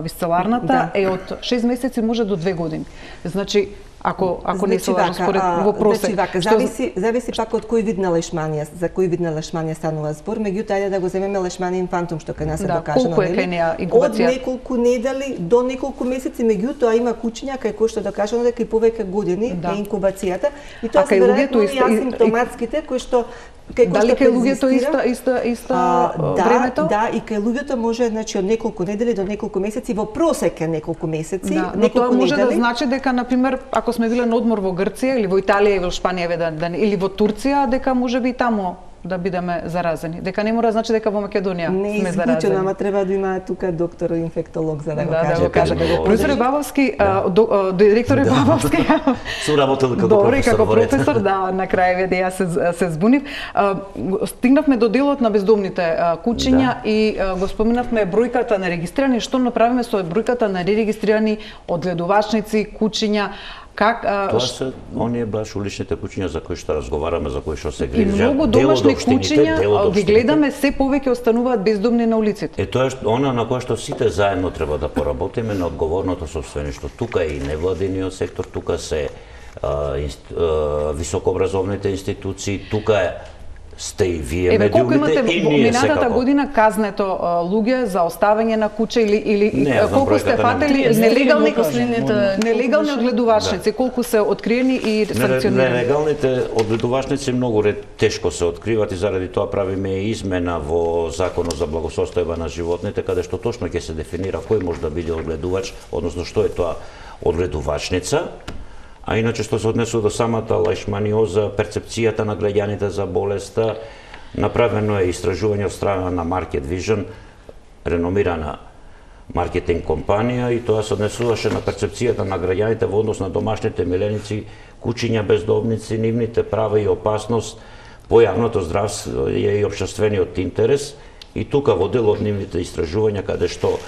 висцеларната, да. е од шест месеци може до две години. Значи, ако ако значи, не се лажам според во просек. Значи, вака, зависи зависи пак од кој вид на лешманија, за кој вид на лешманија станува збор, меѓутоа ајде да го земеме лешманија инфантум што кај нас се да, докажано, колку е кај неа инкубација? Од неколку недели до неколку месеци, меѓутоа има куќиња кај кои што докажано дека и повеќе години да. е инкубацијата и тоа се веројатно и асимптоматските кои што Дали кај луѓето иста иста иста да, времето? Да, и кај луѓето може значи од неколку недели до неколку месеци, во просек е неколку месеци, да, неколку но тоа може недели. да значи дека на пример ако сме биле на одмор во Грција или во Италија и во Шпанија да, да, или во Турција, дека можеби и таму да бидеме заразени. Дека не мора значи дека во Македонија не сме заразени. Не, ама треба да има тука доктор инфектолог за да го да, каже. Да, го каже. Професор Бабовски, да. до, директор Бабовски. Су работел како Добре, професор. како професор, да, на крај веќе јас се, се збунив. Стигнавме до делот на бездомните куќиња да. и го споменавме бројката на регистрирани, што направиме со бројката на регистрирани одгледувачници, куќиња. Как, а, Тоа се оние баш уличните куќиња за кои што разговараме, за кои што се грижат. И многу домашни куќиња ги гледаме се повеќе остануваат бездомни на улиците. Е тоа е она на кое што сите заедно треба да поработиме на одговорното сопствеништво. Тука е и невладиниот сектор, тука се а, инст, а, високообразовните институции, тука е сте и вие Еве, колку медиумите имате и ние минатата секако. година казнето луѓе за оставање на куќа или или не, колку сте фатели нелегални нелегални одгледувачници, да. колку се откриени и санкционирани? Нелегалните одгледувачници многу ред тешко се откриваат и заради тоа правиме измена во Законот за благосостојба на животните, каде што точно ќе се дефинира кој може да биде одгледувач, односно што е тоа одгледувачница. А иначе што се однесува до самата лешманиоза, перцепцијата на граѓаните за болеста, направено е истражување од страна на Market Vision, реномирана маркетинг компанија, и тоа се однесуваше на перцепцијата на граѓаните во однос на домашните миленици, куќиња бездомници, нивните права и опасност по јавното здравство и општествениот интерес. И тука во дел од нивните истражувања, каде што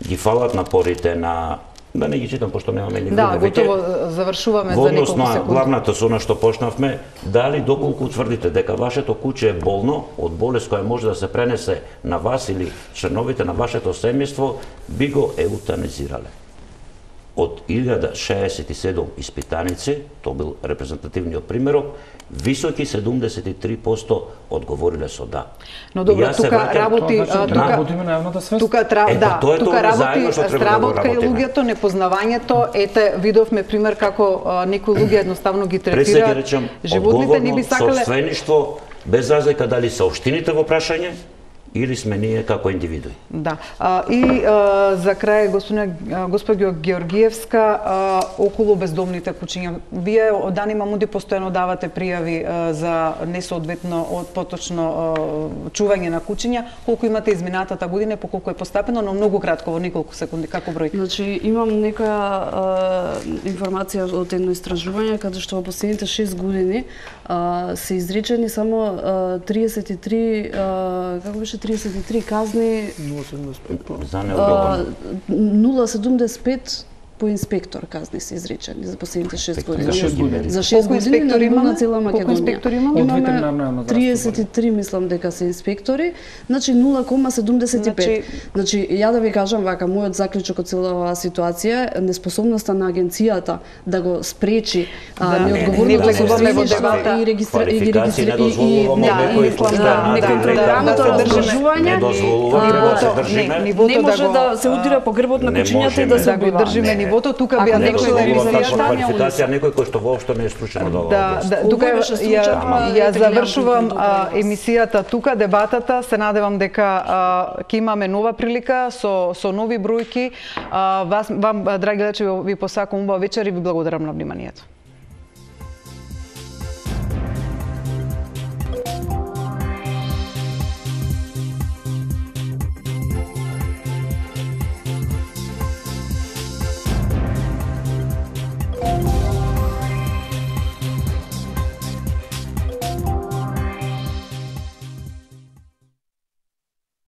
ги фалат напорите на Да не ги читам, пошто немаме ни Да, време. готово завршуваме Во за однос неколку на секунди. главната со на што почнавме, дали доколку тврдите дека вашето куќе е болно од болест која може да се пренесе на вас или членовите на вашето семејство, би го еутанизирале. Од илјада шеесет и седум испитаници, тоа бил репрезентативниот примерок, високи седумдесет и три проценти одговориле со да. Но добро, Јас се тука враќам- работи, Тоа значи, а, да тука работиме на јавната свест. Тука тра, Е, да, тоа е тука тоа работи заедно што треба да го сработка и работиме. луѓето, непознавањето. Ете, видовме пример како а, некои луѓе едноставно ги Пред се третира ги речам, животните, не би одговорно сакале. собствеништво, без разлика дали се општините во прашање или сме ние како индивидуи. Да. А, и а, за крај, господина госпоѓо Георгиевска, а, околу бездомните куќиња. Вие од Анима Мунди постојано давате пријави а, за несоодветно од поточно а, чување на куќиња. Колку имате изминатата година, по колку е постапено, но многу кратко, во неколку секунди, како бројка? Значи, имам некоја а, информација од едно истражување, каде што во последните шест години а, се изречени само а, триесет и три, а, како беше, триесет и три казни, За неодговорно. нула целу седумдесет и пет по инспектор казни се изречени за последните шест години. За шест години. За шест Колку години инспектори на ниво имаме? на цела Колку Македонија. инспектори имаме? Од ветеринарна јавна здравство, триесет и три мислам дека се инспектори, значи нула целу седумдесет и пет. Значи- Значи, ја да ви кажам вака, мојот заклучок од цела оваа ситуација е неспособноста на агенцијата да го спречи Да, а, не, не неодговорното влегуваме во собствеништво дебата. и регистра и Квалификации не регистра и дозволуваме и да, некој и мислам кој да, на нека надред да, лека да, да се да, држи. да, Не дозволуваме да, да се Нивото- држиме. не, нивото не може да го- да се удира по грбот на Не кучињата и да можеме. се да го убива. држиме Не. нивото, тука Ако би ја Не некој навчила да дозволува емисијата, таква ја квалификација некој кој што воопшто не е стручен од оваа Да, област. да, Овој тука беше ја, случајот на ја ветеринарните завршувам добри а, од вас. емисијата тука, дебатата. Се надевам дека а, ќе имаме нова прилика со со нови бројки. А, вас вам, драги гледачи, ви посакувам убава вечер и ви благодарам на вниманието.